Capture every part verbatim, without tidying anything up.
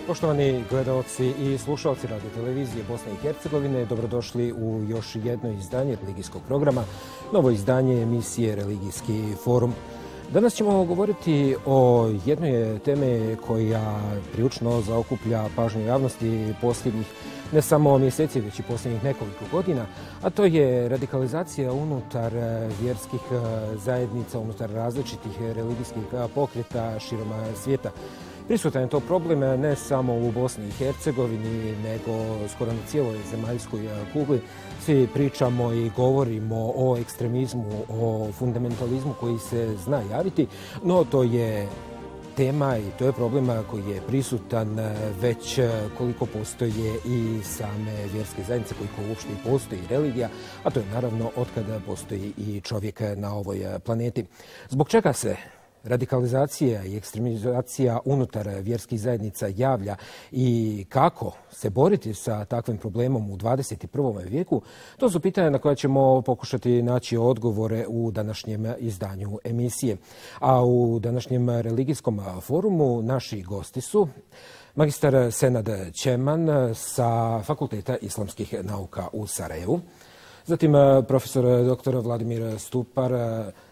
Poštovani gledalci i slušalci Radio Televizije Bosne i Hercegovine, dobrodošli u još jedno izdanje religijskog programa, novo izdanje emisije Religijski forum. Danas ćemo govoriti o jednoj teme koja prilično zaokuplja pažnju javnosti posljednjih ne samo mjeseci, već i posljednjih nekoliko godina, a to je radikalizacija unutar vjerskih zajednica, unutar različitih religijskih pokreta širom svijeta. Prisutan je to problem ne samo u Bosni i Hercegovini, nego skoro na cijeloj zemaljskoj kugli. Svi pričamo i govorimo o ekstremizmu, o fundamentalizmu koji se zna javiti, no to je tema i to je problem koji je prisutan već koliko postoje i same vjerske zajednice, koliko uopšte i postoji religija, a to je naravno otkada postoji i čovjek na ovoj planeti. Zbog čega se radikalizacija i ekstremizacija unutar vjerskih zajednica javlja i kako se boriti sa takvim problemom u dvadeset i prvom vijeku, to su pitanja na koja ćemo pokušati naći odgovore u današnjem izdanju emisije. A u današnjem religijskom forumu naši gosti su magistar Senad Ćeman sa Fakulteta islamskih nauka u Sarajevu, zatim profesor doktor Vladimir Stupar,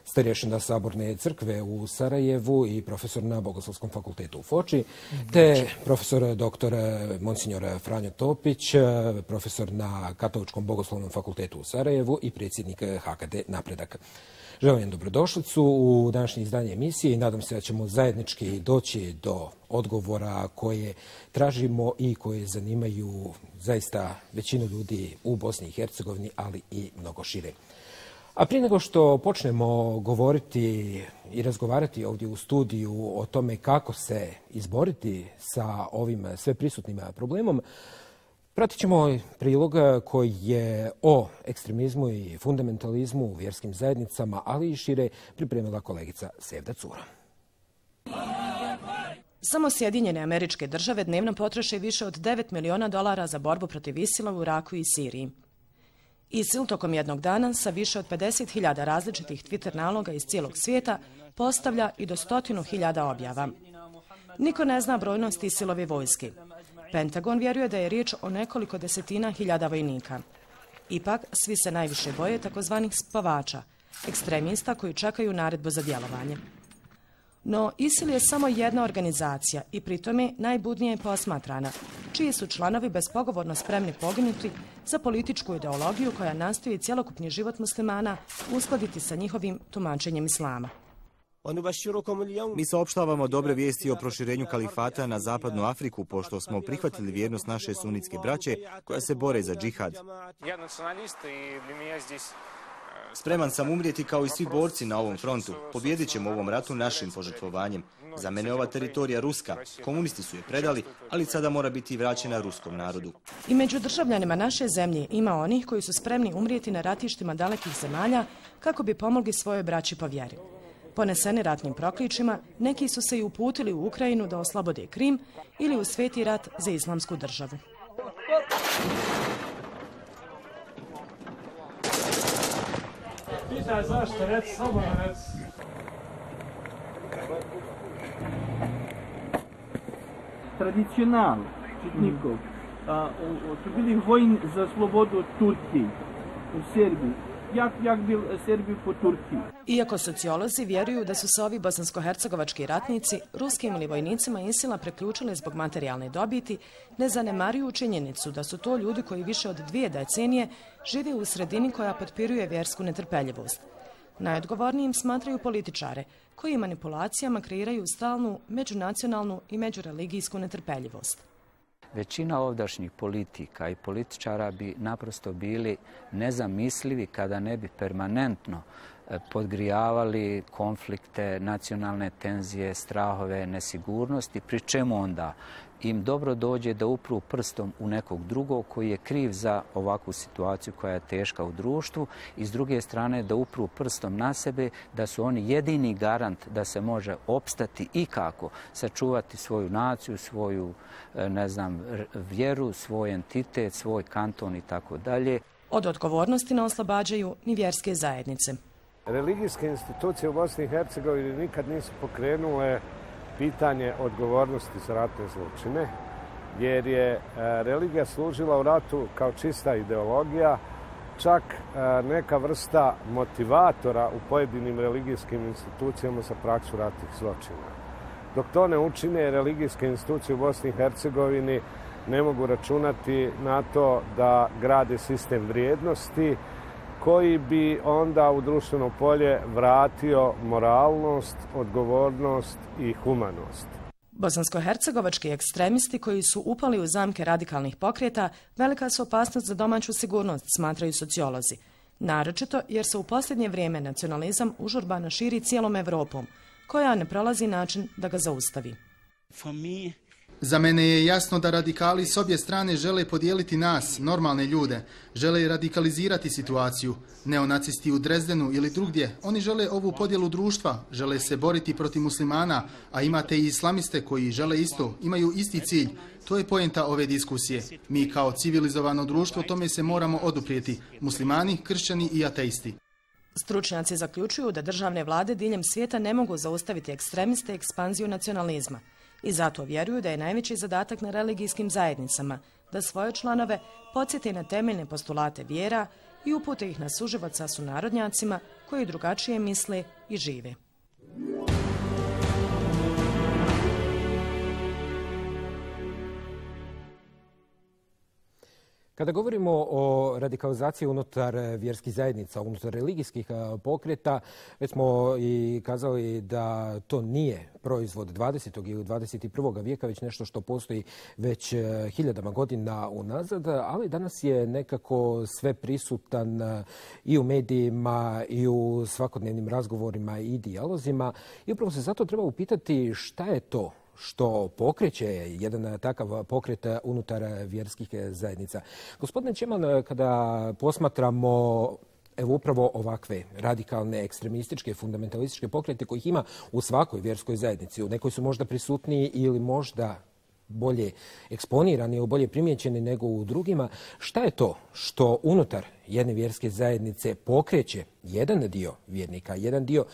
starješina Saborne crkve u Sarajevu i profesor na Bogoslovskom fakultetu u Foči, te profesor doktor Monsignor Franjo Topić, profesor na Katoličkom bogoslovnom fakultetu u Sarajevu i predsjednik H K D Napredak. Želim dobrodošlicu u današnje izdanje emisije i nadam se da ćemo zajednički doći do odgovora koje tražimo i koje zanimaju zaista većinu ljudi u Bosni i Hercegovini, ali i mnogo šire. A prije nego što počnemo govoriti i razgovarati ovdje u studiju o tome kako se izboriti sa ovim sveprisutnim problemom, pratit ćemo prilog koji je o ekstremizmu i fundamentalizmu u vjerskim zajednicama, ali i šire pripremila kolegica Sevda Cura. Samo Sjedinjene Američke Države dnevno potroše više od devet miliona dolara za borbu protiv Isila u Iraku i Siriji. Isil tokom jednog dana sa više od pedeset hiljada različitih Twitter naloga iz cijelog svijeta postavlja i do stotinu hiljada objava. Niko ne zna brojnost Isilove vojske. Pentagon vjeruje da je riječ o nekoliko desetina hiljada vojnika. Ipak, svi se najviše boje takozvanih spavača, ekstremista koji čekaju naredbu za djelovanje. No, Isil je samo jedna organizacija i pritome najbudnije posmatrana, čiji su članovi bespogovorno spremni poginuti za političku ideologiju koja nastoji cjelokupni život muslimana uskladiti sa njihovim tumačenjem islama. Mi saopštavamo dobre vijesti o proširenju kalifata na zapadnu Afriku, pošto smo prihvatili vjernost naše sunitske braće koja se bore za džihad. Spreman sam umrijeti kao i svi borci na ovom frontu. Pobjedit ćemo u ovom ratu našim požrtvovanjem. Za mene ova teritorija ruska. Komunisti su je predali, ali sada mora biti vraćena ruskom narodu. I među državljanima naše zemlje ima onih koji su spremni umrijeti na ratištima dalekih zemalja kako bi pomogli svojoj braći po vjeri. Poneseni ratnim prokličima, neki su se i uputili u Ukrajinu da oslobode Krim ili u sveti rat za islamsku državu. Pitaj zašto, reci, slobodno reci. Tradicional čitnikov su bili vojni za slobodu Turki u Serbiji. Jak, jak bil Srbiji po Turkiji. Iako sociolozi vjeruju da su se ovi bosansko-hercegovački ratnici ruskim ili vojnicima Isila preključili zbog materijalne dobiti, ne zanemaruju činjenicu da su to ljudi koji više od dvije decenije žive u sredini koja potpiruje vjersku netrpeljivost. Najodgovornijim smatraju političare, koji manipulacijama kreiraju stalnu međunacionalnu i međureligijsku netrpeljivost. Većina ovdašnjih politika i političara bi naprosto bili nezamislivi kada ne bi permanentno podgrijavali konflikte, nacionalne tenzije, strahove, nesigurnosti, pri čemu onda im dobro dođe da upru prstom u nekog drugog koji je kriv za ovakvu situaciju koja je teška u društvu i s druge strane da upru prstom na sebe, da su oni jedini garant da se može opstati i kako sačuvati svoju naciju, svoju, ne znam, vjeru, svoj entitet, svoj kanton i tako dalje. Od odgovornosti ne oslobađaju ni vjerske zajednice. Religijske institucije u Bosni i Hercegovini nikad nisu pokrenule pitanje odgovornosti za ratne zločine jer je religija služila u ratu kao čista ideologija, čak neka vrsta motivatora u pojedinim religijskim institucijama za praksu ratnih zločina. Dok to ne učine, religijske institucije u Bosni i Hercegovini ne mogu računati na to da grade sistem vrijednosti koji bi onda u društveno polje vratio moralnost, odgovornost i humanost. Bosansko-hercegovački ekstremisti koji su upali u zamke radikalnih pokreta velika su opasnost za domaću sigurnost, smatraju sociolozi. Naročito jer se u posljednje vrijeme nacionalizam užurbano širi cijelom Evropom, koja ne prolazi način da ga zaustavi. Za mene je jasno da radikali s obje strane žele podijeliti nas, normalne ljude, žele radikalizirati situaciju. Neonacisti u Drezdenu ili drugdje, oni žele ovu podjelu društva, žele se boriti protiv muslimana, a imate i islamiste koji žele isto, imaju isti cilj. To je poenta ove diskusije. Mi kao civilizovano društvo tome se moramo oduprijeti, muslimani, kršćani i ateisti. Stručnjaci zaključuju da državne vlade diljem svijeta ne mogu zaustaviti ekstremiste i ekspanziju nacionalizma. I zato vjeruju da je najveći zadatak na religijskim zajednicama da svoje članove podsjeti na temeljne postulate vjera i upute ih na suživot sa sunarodnjacima koji drugačije misle i žive. Kada govorimo o radikalizaciji unutar vjerskih zajednica, unutar religijskih pokreta, već smo i kazali da to nije proizvod dvadesetog ili dvadeset prvog vijeka, već nešto što postoji već hiljadama godina unazad, ali danas je nekako sve prisutan i u medijima i u svakodnevnim razgovorima i dijalozima. I upravo se zato treba upitati šta je to što pokreće jedan takav pokret unutar vjerskih zajednica. Gospodine Čeman, kada posmatramo evo upravo ovakve radikalne, ekstremističke, fundamentalističke pokrete kojih ima u svakoj vjerskoj zajednici, u nekoj su možda prisutniji ili možda bolje eksponirani ili bolje primjećeni nego u drugima, šta je to što unutar jedne vjerske zajednice pokreće jedan dio vjernika, jedan dio,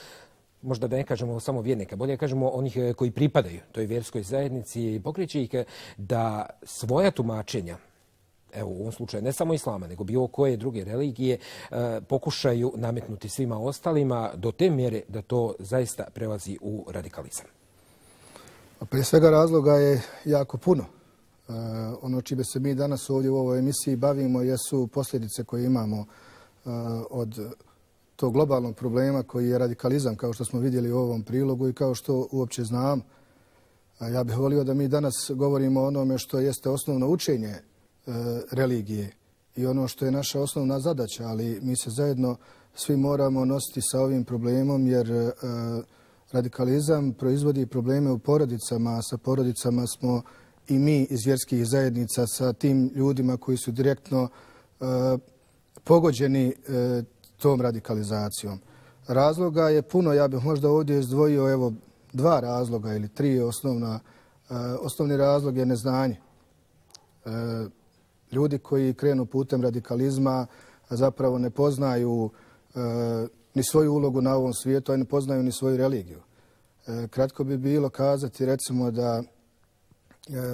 možda da ne kažemo samo vjernika, bolje kažemo onih koji pripadaju toj vjerskoj zajednici i pokreće ih da svoja tumačenja, evo u ovom slučaju ne samo islama, nego bilo koje druge religije, pokušaju nametnuti svima ostalima do te mjere da to zaista prelazi u radikalizam? Prije svega razloga je jako puno. Ono čime se mi danas ovdje u ovoj emisiji bavimo jesu posljedice koje imamo od tog globalnog problema koji je radikalizam, kao što smo vidjeli u ovom prilogu i kao što uopće znam. Ja bih volio da mi danas govorimo o onome što jeste osnovno učenje religije i ono što je naša osnovna zadaća, ali mi se zajedno svi moramo nositi sa ovim problemom jer radikalizam proizvodi probleme u porodicama, a sa porodicama smo i mi iz vjerskih zajednica sa tim ljudima koji su direktno pogođeni tom radikalizacijom. Razloga je puno, ja bih možda ovdje izdvojio evo dva razloga ili tri osnovna. Osnovni razlog je neznanje. Ljudi koji krenu putem radikalizma zapravo ne poznaju ni svoju ulogu na ovom svijetu, a ne poznaju ni svoju religiju. Kratko bi bilo kazati recimo da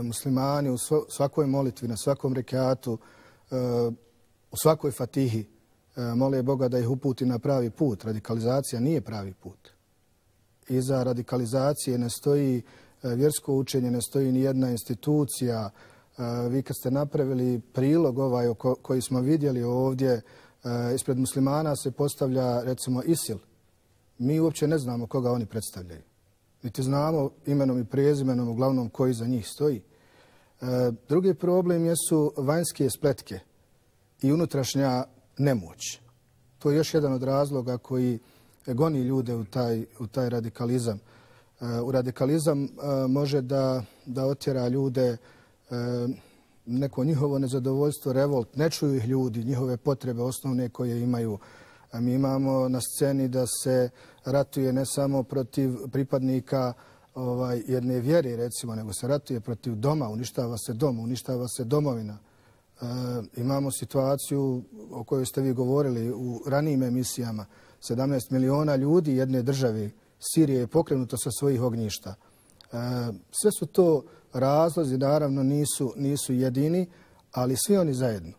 muslimani u svakoj molitvi, na svakom rekatu, u svakoj fatihi mole Boga da ih uputi na pravi put. Radikalizacija nije pravi put. Iza radikalizacije ne stoji vjersko učenje, ne stoji ni jedna institucija. Vi kad ste napravili prilog ovaj koji smo vidjeli ovdje, ispred muslimana se postavlja recimo ISIL. Mi uopće ne znamo koga oni predstavljaju. Niti znamo imenom i prezimenom uglavnom koji za njih stoji. Drugi problem jesu vanjske spletke i unutrašnja nemoć. To je još jedan od razloga koji goni ljude u taj, u taj radikalizam. U radikalizam može da, da otjera ljude neko njihovo nezadovoljstvo, revolt. Ne čuju ih ljudi, njihove potrebe osnovne koje imaju. Mi imamo na sceni da se ratuje ne samo protiv pripadnika ovaj, jedne vjere, recimo, nego se ratuje protiv doma, uništava se dom, uništava se domovina. E, imamo situaciju o kojoj ste vi govorili u ranijim emisijama. sedamnaest miliona ljudi jedne države, Sirije, je pokrenuto sa svojih ognjišta. Sve su to razlozi, naravno nisu, nisu jedini, ali svi oni zajedno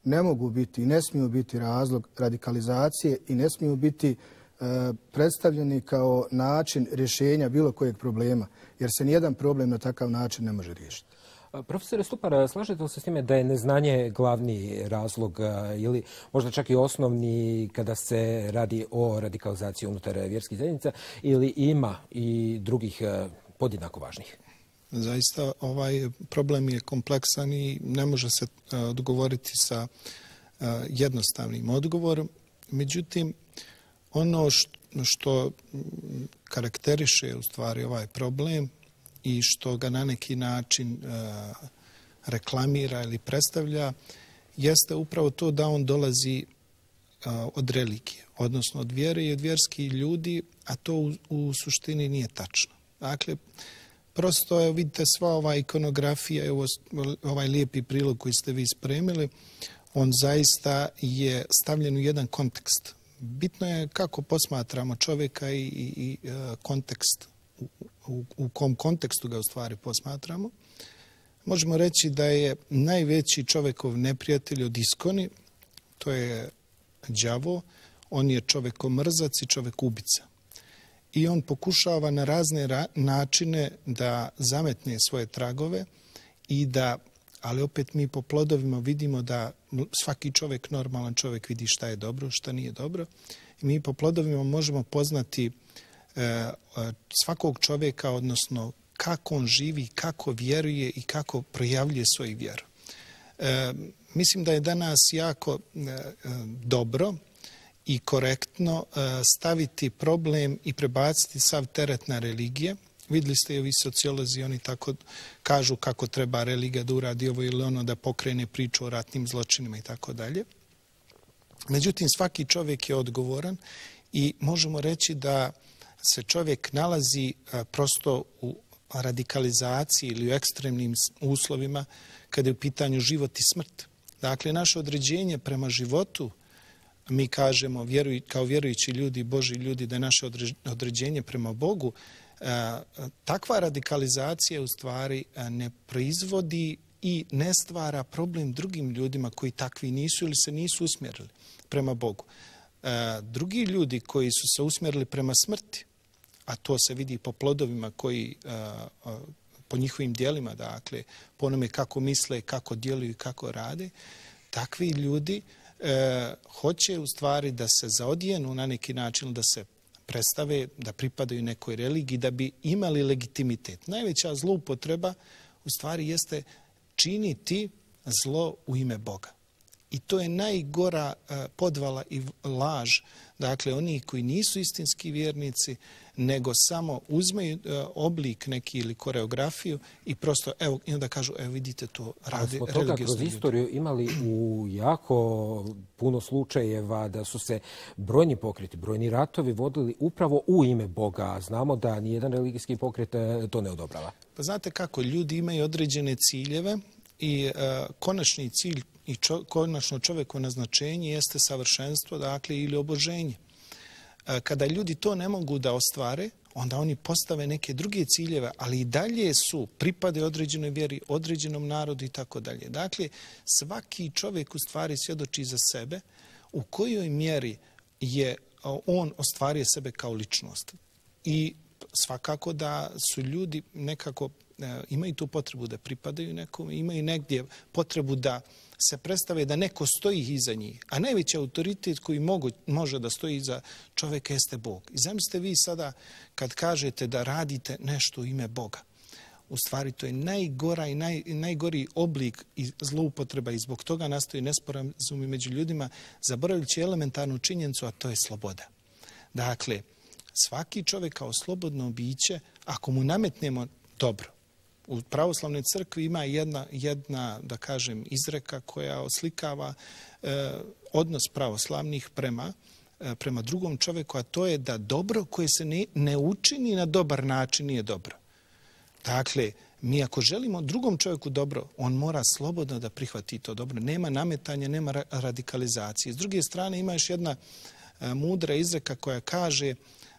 ne mogu biti i ne smiju biti razlog radikalizacije i ne smiju biti predstavljeni kao način rješenja bilo kojeg problema, jer se nijedan problem na takav način ne može riješiti. Profesore Stupar, slažete li se s time da je neznanje glavni razlog ili možda čak i osnovni kada se radi o radikalizaciji unutar vjerskih zajednica ili ima i drugih podjednako važnih? Zaista ovaj problem je kompleksan i ne može se odgovoriti sa jednostavnim odgovorom. Međutim, ono što karakteriše u stvari ovaj problem i što ga na neki način reklamira ili predstavlja, jeste upravo to da on dolazi od religije, odnosno od vjere i od vjerskih ljudi, a to u, u suštini nije tačno. Dakle, prosto je, vidite, sva ova ikonografija i ovaj lijepi prilog koji ste vi spremili, on zaista je stavljen u jedan kontekst. Bitno je kako posmatramo čovjeka i, i, i kontekst, u, u, u kom kontekstu ga u stvari posmatramo. Možemo reći da je najveći čovjekov neprijatelj od iskoni, to je đavo, on je čovjekomrzac i čovjekubica. I on pokušava na razne načine da zametne svoje tragove i da, ali opet mi po plodovima vidimo da svaki čovjek, normalan čovjek, vidi šta je dobro, šta nije dobro. I mi po plodovima možemo poznati e, svakog čovjeka, odnosno kako on živi, kako vjeruje i kako projavljuje svoju vjeru. E, mislim da je danas jako e, dobro i korektno staviti problem i prebaciti sav teret na religije. Vidjeli ste i ovi sociolozi, oni tako kažu kako treba religija da uradi ovo ili ono, da pokrene priču o ratnim zločinima i tako dalje. Međutim, svaki čovjek je odgovoran i možemo reći da se čovjek nalazi prosto u radikalizaciji ili u ekstremnim uslovima kada je u pitanju život i smrt. Dakle, naše određenje prema životu, mi kažemo vjeruj, kao vjerujući ljudi, Boži ljudi, da je naše određenje prema Bogu, takva radikalizacija u stvari ne proizvodi i ne stvara problem drugim ljudima koji takvi nisu ili se nisu usmjerili prema Bogu. Drugi ljudi koji su se usmjerili prema smrti, a to se vidi po plodovima koji, po njihovim dijelima, dakle, po onome kako misle, kako djeluju i kako rade, takvi ljudi E, hoće u stvari da se zaodijenu na neki način, da se predstave, da pripadaju nekoj religiji, da bi imali legitimitet. Najveća zloupotreba u stvari jeste činiti zlo u ime Boga. I to je najgora e, podvala i laž. Dakle, oni koji nisu istinski vjernici, nego samo uzmeju e, oblik neki ili koreografiju i prosto, evo, i onda kažu, evo vidite to, radi religijski ljudi. Kroz istoriju imali u jako puno slučajeva da su se brojni pokreti, brojni ratovi vodili upravo u ime Boga. Znamo da nijedan religijski pokret to ne odobrava. Pa znate kako, ljudi imaju određene ciljeve i e, konačni cilj i čo, konačno čovjekovo naznačenje jeste savršenstvo, dakle, ili oboženje. Kada ljudi to ne mogu da ostvare, onda oni postave neke druge ciljeve, ali i dalje su, pripade određenoj vjeri, određenom narodu i tako dalje. Dakle, svaki čovjek u stvari svjedoči za sebe u kojoj mjeri je on ostvario sebe kao ličnost. I svakako da su ljudi nekako imaju tu potrebu da pripadaju nekom, imaju negdje potrebu da se predstave da neko stoji iza njih. A najveći autoritet koji mogu, može da stoji iza čovjeka jeste Bog. I zamislite vi sada kad kažete da radite nešto u ime Boga. U stvari to je najgora i naj, najgori oblik zloupotreba i zbog toga nastoji nesporazumi među ljudima, zaboravljajući elementarnu činjenicu, a to je sloboda. Dakle, svaki čovjek kao slobodno biće, ako mu nametnemo dobro, u pravoslavnoj crkvi ima jedna, jedna da kažem, izreka koja oslikava e, odnos pravoslavnih prema, e, prema drugom čovjeku, a to je da dobro koje se ne, ne učini na dobar način nije dobro. Dakle, mi ako želimo drugom čovjeku dobro, on mora slobodno da prihvati to dobro. Nema nametanja, nema ra radikalizacije. S druge strane, ima još jedna e, mudra izreka koja kaže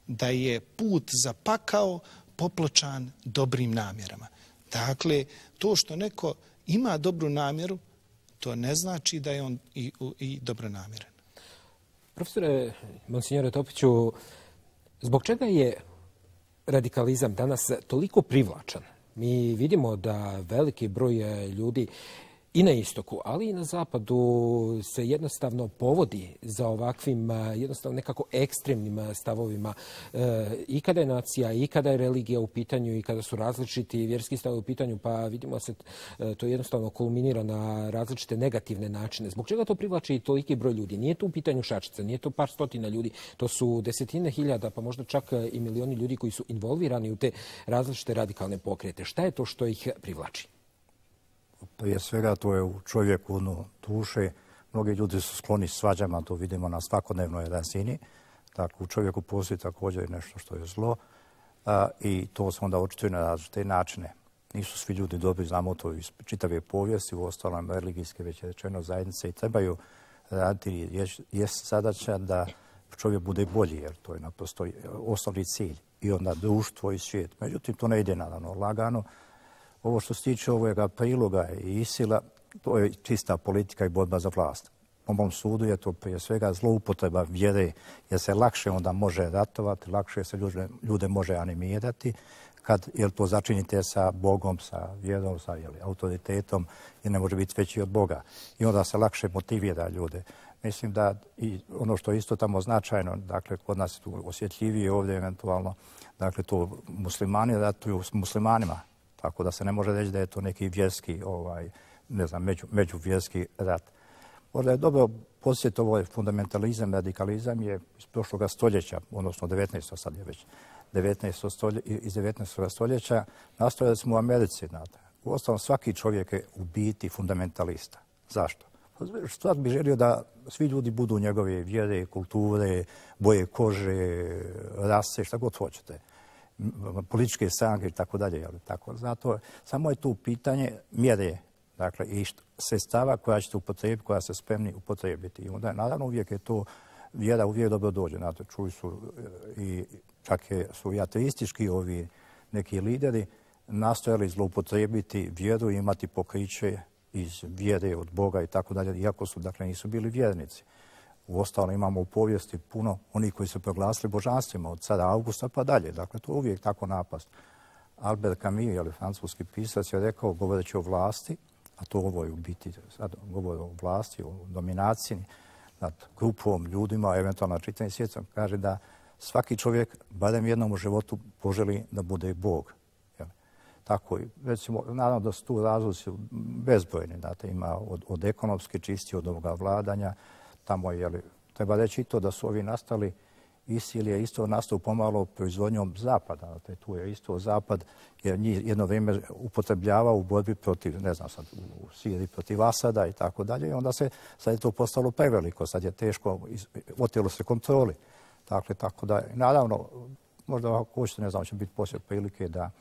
da je put za pakao popločan dobrim namjerama. Dakle, to što neko ima dobru namjeru, to ne znači da je on i, i dobronamjeran. Profesore, monsignore Topiću, zbog čega je radikalizam danas toliko privlačan? Mi vidimo da veliki broj ljudi i na istoku, ali i na zapadu se jednostavno povodi za ovakvim jednostavno nekako ekstremnim stavovima i kada je nacija, i kada je religija u pitanju, i kada su različiti vjerski stavovi u pitanju, pa vidimo se to jednostavno kulminira na različite negativne načine. Zbog čega to privlači i toliki broj ljudi? Nije to u pitanju šačica, nije to par stotina ljudi, to su desetine hiljada, pa možda čak i milioni ljudi koji su involvirani u te različite radikalne pokrete. Šta je to što ih privlači? Prije svega to je u čovjeku ono duše. Mnogi ljudi su skloni svađama, to vidimo na svakodnevnoj razini. Tako, u čovjeku postoji također nešto što je zlo a, i to se onda očituje na različite načine. Nisu svi ljudi dobri, znamo to iz čitave povijesti, u ostalom religijske već je rečeno zajednice i trebaju raditi, jest zadaća da čovjek bude bolji, jer to je naprosto osnovni cilj. I onda društvo i svijet. Međutim, to ne ide naravno lagano. Ovo što se tiče ovoga priloga i isila, to je čista politika i borba za vlast. Po mom sudu je to prije svega zloupotreba vjere, jer se lakše onda može ratovati, lakše se ljude, ljude može animirati, kad jer to začinite sa Bogom, sa vjerom, sa jeli, autoritetom, jer ne može biti veći od Boga. I onda se lakše motivira ljude. Mislim da i ono što je isto tamo značajno, dakle, kod nas je tu osjetljivije ovdje eventualno, dakle, to muslimani ratuju s muslimanima. Tako da se ne može reći da je to neki vjerski, ovaj, ne znam, među, međuvjerski rat. Možda je dobro posjetiti ovaj fundamentalizam, radikalizam je iz prošloga stoljeća, odnosno devetnaestog sad je već, devetnaestog stolje, iz devetnaestog stoljeća, nastojali smo u Americi. Znate. U ostalom, svaki čovjek je u biti fundamentalista. Zašto? Stvar bi želio da svi ljudi budu njegove vjere, kulture, boje kože, rase, šta god hoćete. Političke stranke i tako dalje. Tako. Zato samo je tu pitanje mjere, dakle, i sredstava koja ćete upotrebiti, koja se spremni upotrebiti. I onda, naravno, uvijek je to vjera, uvijek dobro dođe. Znate, čuli su i čak je, su i ateistički ovi neki lideri nastojali zloupotrebiti vjeru i imati pokriće iz vjere od Boga i tako dalje, iako su, dakle, nisu bili vjernici. Uostalom imamo u povijesti puno onih koji su proglasili božanstvima od cara Augusta pa dalje. Dakle, to je uvijek tako napast. Albert Camus, ali francuski pisac, je rekao, govoreći o vlasti, a to ovo je u biti, sad govori o vlasti, o dominaciji nad grupom, ljudima, eventualno čitavim svijetom, kaže da svaki čovjek, barem jednom u životu, poželi da bude Bog. Tako, recimo, naravno da su tu razlozi bezbrojni, znate, ima od, od ekonomske čisti, od ovoga vladanja. Tamo je, jeli, treba reći i to da su ovi nastali, ISIL je isto nastao pomalo proizvodnjom Zapada. Znate, tu je isto Zapad, jer njih jedno vrijeme upotrebljavao u borbi protiv, ne znam sad, u Siriji protiv Asada i tako dalje. I onda se, sad je to postalo preveliko, sad je teško, otelo se kontroli. Dakle, tako da, naravno, možda ako hoćete, ne znam, će biti poslije prilike da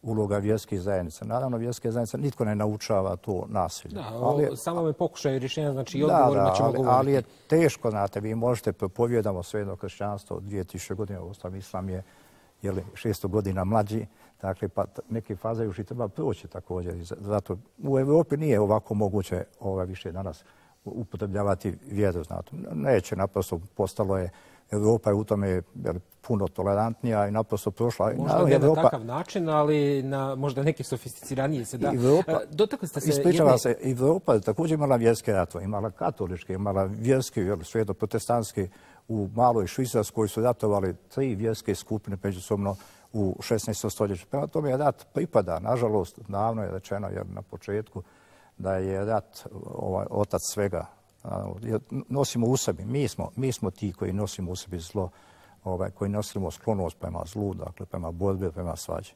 uloga vjerskih zajednica. Naravno, vjerske zajednice nitko ne naučava to nasilje. Da, ali, samo me pokušaju rješenja, znači i odgovorima da, ćemo ali, govoriti. Ali je teško, znate, vi možete propovijedamo svejedno kršćanstvo od dvije tisuće godina, osam islam je jeli, šesto godina mlađi, dakle, pa neke faze još i treba proći također. Zato u Evropi nije ovako moguće ovaj, više danas upotrebljavati vjeru, znate. Neće, naprosto postalo je Evropa je u tome puno tolerantnija i naprosto prošla. Možda ne na takav način, ali na možda neke sofisticiranije se da. Dotakli ste se... Ispričava se, Evropa je također imala vjerske ratove, imala katoličke, imala vjerske, svejedno protestantske. U maloj Švicarskoj su ratovali tri vjerske skupine međusobno u šesnaestom stoljeću. Prema tome je rat pripada, nažalost, davno je rečeno jer na početku da je rat ovaj, otac svega. Nosimo u sebi, mi smo, mi smo ti koji nosimo u sebi zlo, ovaj, koji nosimo sklonost prema zlu, dakle prema borbi, prema svađi.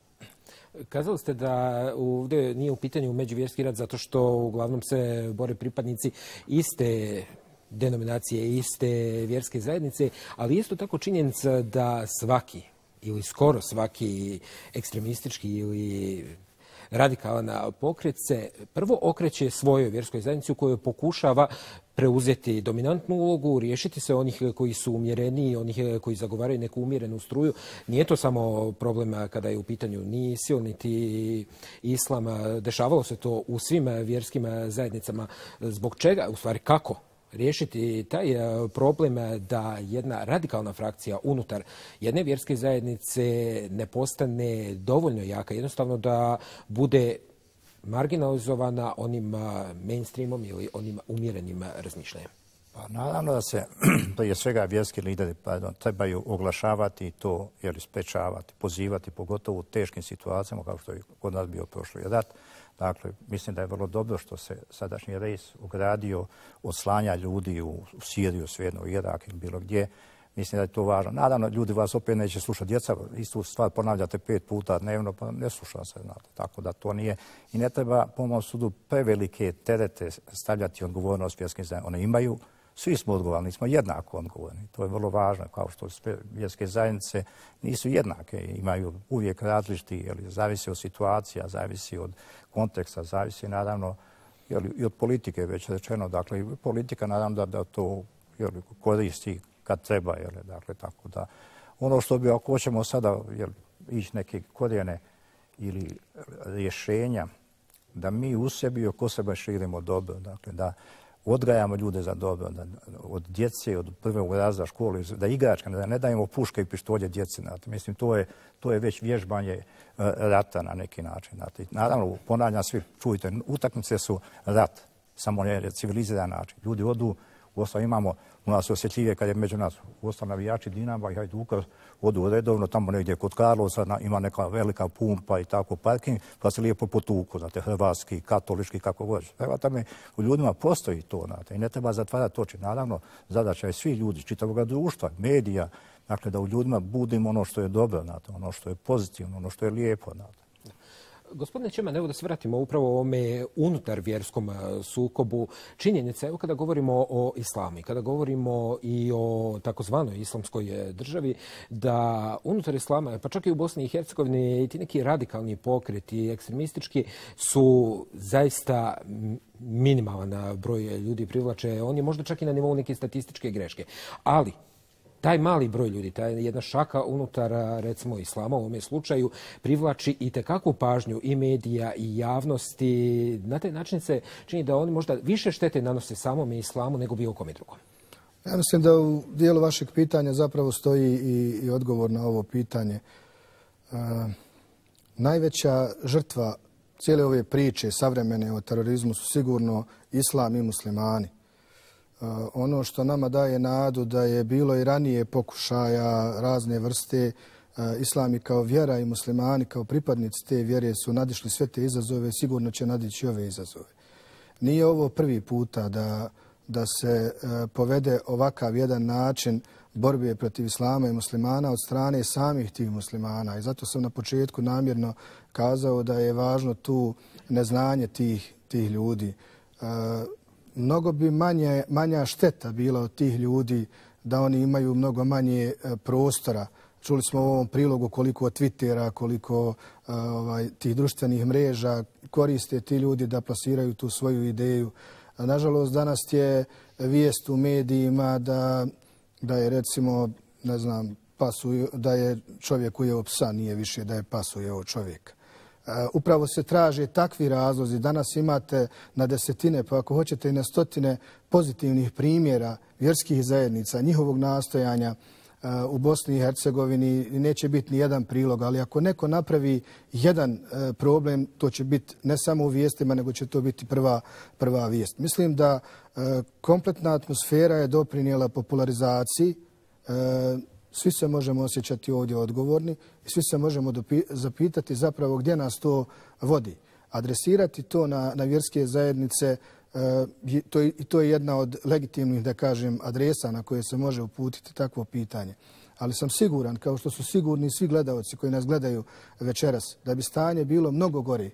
Kazali ste da ovdje nije u pitanju međuvjerski rat zato što uglavnom se bore pripadnici iste denominacije, iste vjerske zajednice, ali isto tako činjenica da svaki ili skoro svaki ekstremistički ili radikalan pokret se prvo okreće svojoj vjerskoj zajednici u kojoj pokušava preuzeti dominantnu ulogu, riješiti se onih koji su umjereniji, onih koji zagovaraju neku umjerenu struju. Nije to samo problem kada je u pitanju ni ISIL, niti islam. Dešavalo se to u svim vjerskim zajednicama. Zbog čega? U stvari kako riješiti taj problem da jedna radikalna frakcija unutar jedne vjerske zajednice ne postane dovoljno jaka, jednostavno da bude marginalizovana onim mainstreamom ili onim umjerenim razmišljanjem? Pa naravno da se prije svega vjerski lideri pardon, trebaju oglašavati to ili sprečavati, pozivati, pogotovo u teškim situacijama kao što je kod nas bio prošli rat. Dakle, mislim da je vrlo dobro što se sadašnji rejs ugradio od slanja ljudi u Siriju, svejedno u Irak ili bilo gdje. Mislim da je to važno. Naravno, ljudi vas opet neće slušati. Djeca istu stvar ponavljate pet puta dnevno, pa ne sluša se. Znate. Tako da to nije. I ne treba, po mom sudu, prevelike terete stavljati odgovornost vjerskim zajednicama. One imaju, svi smo odgovorni, smo jednako odgovorni. To je vrlo važno, kao što sve vjerske zajednice nisu jednake. Imaju uvijek različiti, jeli, zavisi od situacija, zavisi od konteksta, zavisi naravno jeli, i od politike, već rečeno. Dakle, politika naravno da, da to jeli, koristi kad treba, jel, dakle, tako da. Ono što bi, ako hoćemo sada jel, ići neke korijene ili rješenja, da mi u sebi i oko sebe širimo dobro, dakle, da odgajamo ljude za dobro, da od djece, od prvog razreda škole, da igračka, da ne dajemo puške i pištolje djeci. Znate. Mislim, to je, to je već vježbanje rata na neki način. Znate. Naravno, ponavljam svi, čujte, utakmice su rat, samo ne civiliziran način. Ljudi odu, uostalom imamo u nas osjetljivije kad je među nas uostalom navijači Dinama i Hajduka odu redovno, tamo negdje kod Karlovca ima neka velika pumpa i tako parking, pa se lijepo potuku, znate, hrvatski, katolički, kako god. Evo tamo u ljudima postoji to, znate, i ne treba zatvarati oči. Naravno, zadaća je svi ljudi, čitavog društva, medija, dakle, da u ljudima budimo ono što je dobro, znate, ono što je pozitivno, ono što je lijepo, znate. Gospodine Čeman, evo da se vratimo upravo o ovome unutar vjerskom sukobu. Činjenica, evo kada govorimo o islamu i kada govorimo i o takozvanoj islamskoj državi, da unutar islama, pa čak i u Bosni i Hercegovini, i ti neki radikalni pokreti, ekstremistički, su zaista minimalan broj ljudi privlače. On je možda čak i na nivou neke statističke greške. Ali taj mali broj ljudi, ta jedna šaka unutar, recimo, islama u ovome slučaju, privlači i tekakvu pažnju i medija i javnosti. Na taj način se čini da oni možda više štete nanose samom islamu nego bilo kome drugom. Ja mislim da u dijelu vašeg pitanja zapravo stoji i, i odgovor na ovo pitanje. E, najveća žrtva cijele ove priče savremene o terorizmu su sigurno islam i muslimani. Ono što nama daje nadu da je bilo i ranije pokušaja razne vrste, islam i kao vjera i muslimani kao pripadnici te vjere su nadišli sve te izazove, sigurno će nadići ove izazove. Nije ovo prvi puta da, da se povede ovakav jedan način borbe protiv islama i muslimana od strane samih tih muslimana. I zato sam na početku namjerno kazao da je važno tu neznanje tih, tih ljudi. Mnogo bi manje, manja šteta bila od tih ljudi da oni imaju mnogo manje prostora. Čuli smo u ovom prilogu koliko Twittera, koliko ovaj, tih društvenih mreža koriste ti ljudi da plasiraju tu svoju ideju. Nažalost, danas je vijest u medijima da, da je recimo, ne znam, pasu, da je čovjek ujeo psa, nije više da je pas ujeo čovjeka. Upravo se traže takvi razlozi. Danas imate na desetine, pa ako hoćete i na stotine pozitivnih primjera vjerskih zajednica, njihovog nastojanja u Bosni i Hercegovini. Neće biti ni jedan prilog, ali ako neko napravi jedan problem, to će biti ne samo u vijestima, nego će to biti prva, prva vijest. Mislim da kompletna atmosfera je doprinijela popularizaciji. Svi se možemo osjećati ovdje odgovorni i svi se možemo zapitati zapravo gdje nas to vodi. Adresirati to na, na vjerske zajednice, i to, to je jedna od legitimnih, da kažem, adresa na koje se može uputiti takvo pitanje. Ali sam siguran, kao što su sigurni svi gledalci koji nas gledaju večeras, da bi stanje bilo mnogo gore,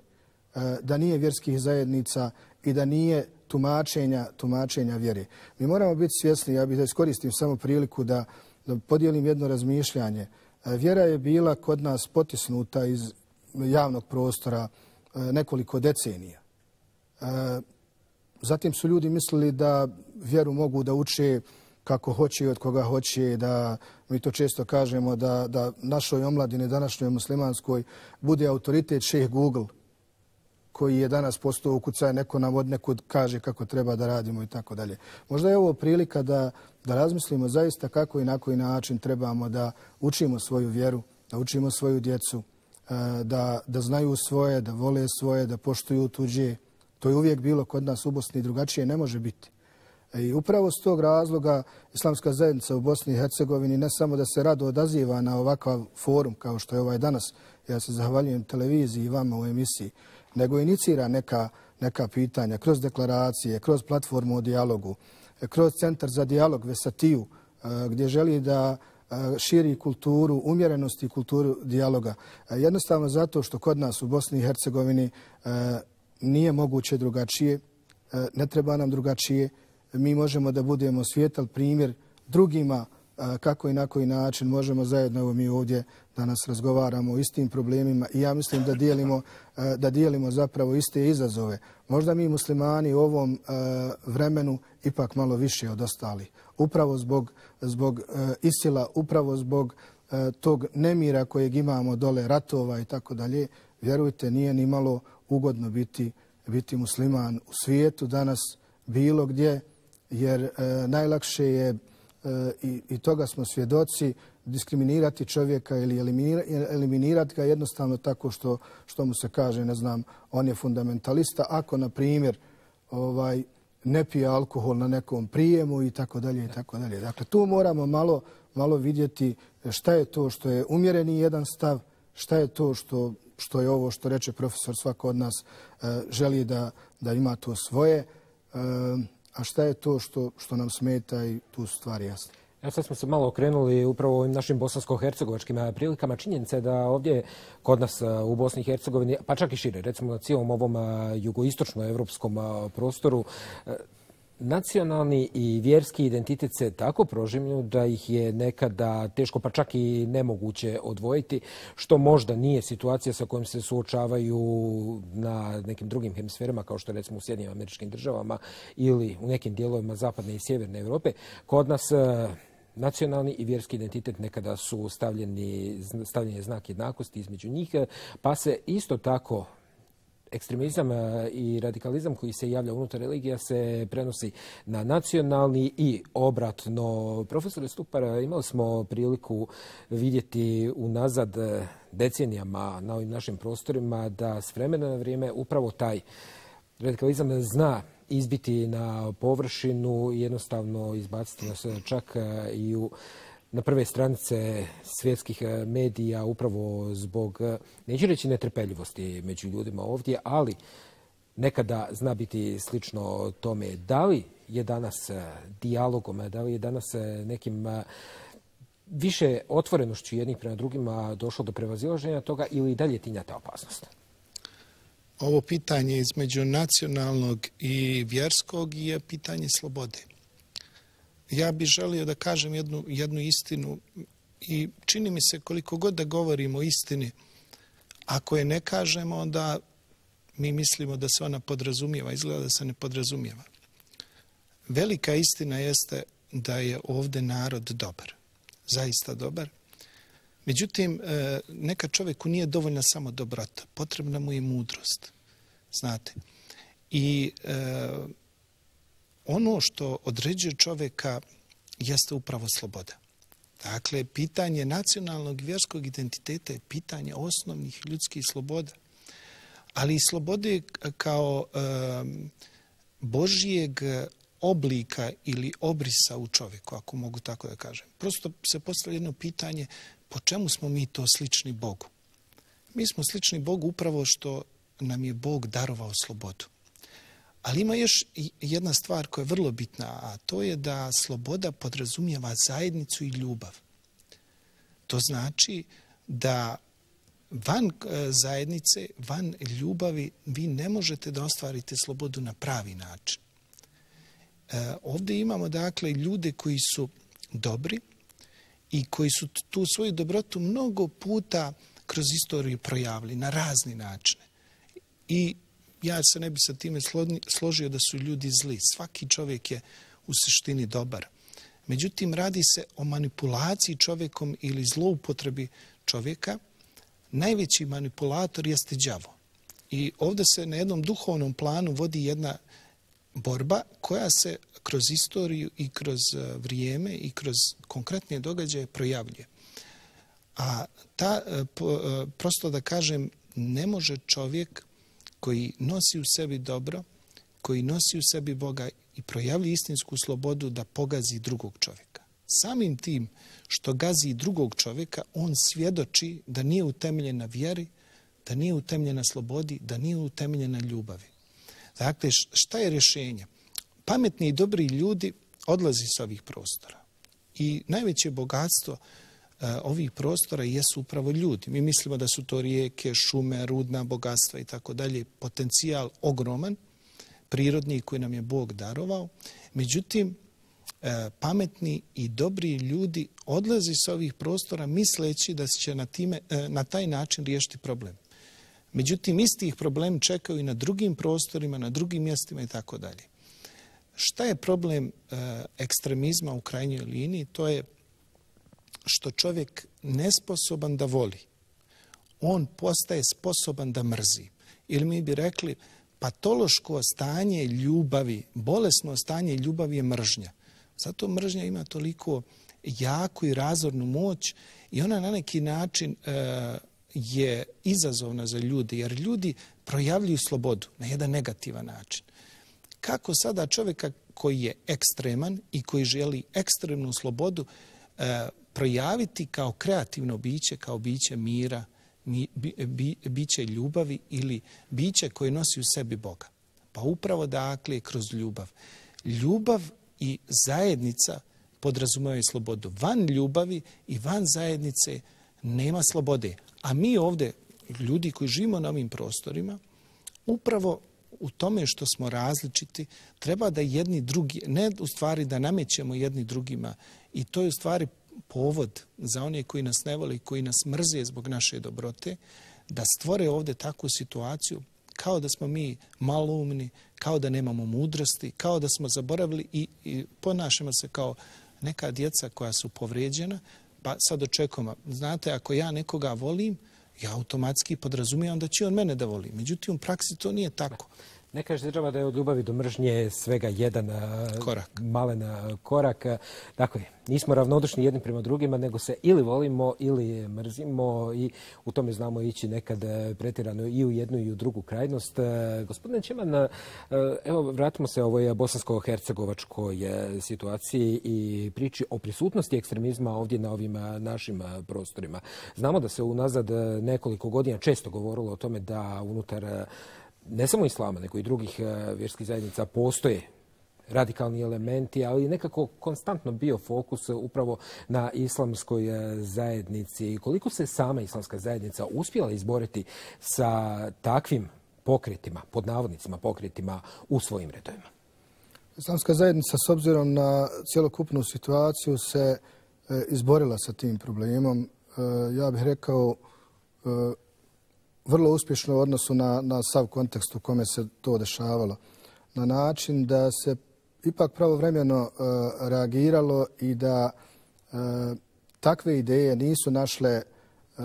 da nije vjerskih zajednica i da nije tumačenja, tumačenja vjere. Mi moramo biti svjesni, ja bih da iskoristim samo priliku da da podijelim jedno razmišljanje. Vjera je bila kod nas potisnuta iz javnog prostora nekoliko decenija. zatim su ljudi mislili da vjeru mogu da uče kako hoće i od koga hoće, da mi to često kažemo da, da našoj omladini, današnjoj muslimanskoj, bude autoritet šejh Google, koji je danas postao ukucaj, neko nam od nekud kaže kako treba da radimo i tako dalje. Možda je ovo prilika da, da razmislimo zaista kako i na koji način trebamo da učimo svoju vjeru, da učimo svoju djecu, da, da znaju svoje, da vole svoje, da poštuju tuđe. To je uvijek bilo kod nas u Bosni, drugačije ne može biti. I upravo s tog razloga Islamska zajednica u Bosni i Hercegovini ne samo da se rado odaziva na ovakav forum kao što je ovaj danas, ja se zahvaljujem televiziji i vama u emisiji, nego inicira neka, neka pitanja kroz deklaracije, kroz platformu o dijalogu, kroz Centar za dijalog Vesatiju, gdje želi da širi kulturu umjerenosti i kulturu dijaloga. Jednostavno zato što kod nas u Bosni i Hercegovini nije moguće drugačije, ne treba nam drugačije. Mi možemo da budemo svijetal primjer drugima kako i na koji način možemo zajedno, evo mi ovdje danas razgovaramo o istim problemima i ja mislim da dijelimo, da dijelimo zapravo iste izazove. Možda mi muslimani u ovom vremenu ipak malo više od ostalih. Upravo zbog, zbog isila, upravo zbog tog nemira kojeg imamo dole, ratova i tako dalje, vjerujte, nije ni malo ugodno biti, biti musliman u svijetu danas bilo gdje, jer e, najlakše je, e, i, i toga smo svjedoci, diskriminirati čovjeka ili eliminira, eliminirati ga jednostavno tako što, što mu se kaže, ne znam, on je fundamentalista, ako, na primjer, ovaj, ne pije alkohol na nekom prijemu i tako dalje i tako dalje. Dakle, tu moramo malo, malo vidjeti šta je to što je umjereni jedan stav, šta je to što, što je ovo što reče profesor, svako od nas e, želi da, da ima to svoje, e, a šta je to što, što nam smeta i tu su stvari jasne. Ja sad smo se malo okrenuli upravo ovim našim bosansko-hercegovačkim prilikama. Činjenica je da ovdje kod nas u Bosni i Hercegovini, pa čak i šire, recimo na cijelom ovom jugoistočno-evropskom prostoru, nacionalni i vjerski identitet se tako prožimlju da ih je nekada teško, pa čak i nemoguće odvojiti, što možda nije situacija sa kojom se suočavaju na nekim drugim hemisferima, kao što je recimo u Sjedinjenim Američkim Državama ili u nekim dijelovima zapadne i sjeverne Evrope. Kod nas nacionalni i vjerski identitet nekada su stavljeni, stavljeni znak jednakosti između njih, pa se isto tako ekstremizam i radikalizam koji se javlja unutar religija se prenosi na nacionalni i obratno. Profesore Stupar, imali smo priliku vidjeti unazad decenijama na ovim našim prostorima da s vremena na vrijeme upravo taj radikalizam zna izbiti na površinu i jednostavno izbaciti nas čak i u na prve stranice svjetskih medija upravo zbog, neću reći netrpeljivosti među ljudima ovdje, ali nekada zna biti slično tome. Da li je danas dijalogom, da li je danas nekim više otvorenošću jednih prema drugima došlo do prevazilaženja toga ili dalje tinja ta opasnost? Ovo pitanje između nacionalnog i vjerskog je pitanje slobode. Ja bih želio da kažem jednu, jednu istinu i čini mi se koliko god da govorimo o istini, ako je ne kažemo, onda mi mislimo da se ona podrazumijeva, izgleda da se ne podrazumijeva. Velika istina jeste da je ovdje narod dobar, zaista dobar. Međutim, neka čovjeku nije dovoljna samo dobrota, potrebna mu je mudrost, znate. I e, ono što određuje čovjeka jeste upravo sloboda. Dakle, pitanje nacionalnog i vjerskog identiteta je pitanje osnovnih ljudskih sloboda, ali i slobode kao e, Božijeg oblika ili obrisa u čovjeku, ako mogu tako da kažem. Prosto se postavlja jedno pitanje, po čemu smo mi to slični Bogu? Mi smo slični Bogu upravo što nam je Bog darovao slobodu. Ali ima još jedna stvar koja je vrlo bitna, a to je da sloboda podrazumijeva zajednicu i ljubav. To znači da van zajednice, van ljubavi, vi ne možete da ostvarite slobodu na pravi način. E, ovdje imamo dakle ljude koji su dobri i koji su tu svoju dobrotu mnogo puta kroz istoriju projavili na razni načine. I ja se ne bi sa time složio da su ljudi zli. Svaki čovjek je u suštini dobar. Međutim, radi se o manipulaciji čovjekom ili zloupotrebi čovjeka. Najveći manipulator jeste đavo. I ovdje se na jednom duhovnom planu vodi jedna borba koja se kroz istoriju i kroz vrijeme i kroz konkretne događaje projavljuje. A ta, prosto da kažem, ne može čovjek koji nosi u sebi dobro, koji nosi u sebi Boga i projavlja istinsku slobodu da pogazi drugog čovjeka. Samim tim što gazi drugog čovjeka, on svjedoči da nije utemeljen na vjeri, da nije utemeljen na slobodi, da nije utemeljen na ljubavi. Dakle, šta je rješenje? Pametni i dobri ljudi odlazi s ovih prostora. I najveće bogatstvo ovih prostora jesu upravo ljudi. Mi mislimo da su to rijeke, šume, rudna bogatstva i tako dalje. Potencijal ogroman, prirodni koji nam je Bog darovao. Međutim, pametni i dobri ljudi odlazi s ovih prostora misleći da će na, time, na taj način riješiti problem. Međutim, istih problem čekaju i na drugim prostorima, na drugim mjestima i tako dalje. Šta je problem ekstremizma u krajnjoj liniji? To je što čovjek nesposoban da voli. On postaje sposoban da mrzi. Ili mi bi rekli, patološko stanje ljubavi, bolesno stanje ljubavi je mržnja. Zato mržnja ima toliko jaku i razornu moć i ona na neki način e, je izazovna za ljudi, jer ljudi projavljuju slobodu na jedan negativan način. Kako sada čovjeka koji je ekstreman i koji želi ekstremnu slobodu e, projaviti kao kreativno biće, kao biće mira, bi, bi, biće ljubavi ili biće koje nosi u sebi Boga? Pa upravo dakle kroz ljubav. Ljubav i zajednica podrazumijevaju slobodu. Van ljubavi i van zajednice nema slobode. A mi ovdje, ljudi koji živimo na ovim prostorima, upravo u tome što smo različiti, treba da jedni drugi, ne u stvari da namećemo jedni drugima, i to je u stvari povod za one koji nas ne vole i koji nas mrze zbog naše dobrote, da stvore ovdje takvu situaciju kao da smo mi maloumni, kao da nemamo mudrosti, kao da smo zaboravili i, i ponašamo se kao neka djeca koja su povrijeđena, pa sad očekujemo. Znate, ako ja nekoga volim, ja automatski podrazumijem da će on mene da voli. Međutim, u praksi to nije tako. Ne kaže država da je od ljubavi do mržnje svega jedan korak. malen korak. Dakle, nismo ravnodušni jedni prema drugima, nego se ili volimo ili mrzimo i u tome znamo ići nekad pretjerano i u jednu i u drugu krajnost. Gospodine Čeman, evo vratimo se ovoj bosansko-hercegovačkoj situaciji i priči o prisutnosti ekstremizma ovdje na ovim našim prostorima. Znamo da se unazad nekoliko godina često govorilo o tome da unutar ne samo islama, nego i drugih vjerskih zajednica postoje radikalni elementi, ali nekako konstantno bio fokus upravo na islamskoj zajednici. Koliko se sama islamska zajednica uspjela izboriti sa takvim pokretima, pod navodnicima pokretima u svojim redovima? Islamska zajednica s obzirom na cjelokupnu situaciju se izborila sa tim problemom. Ja bih rekao vrlo uspješno u odnosu na, na sav kontekst u kome se to dešavalo. Na način da se ipak pravovremeno uh, reagiralo i da uh, takve ideje nisu našle uh,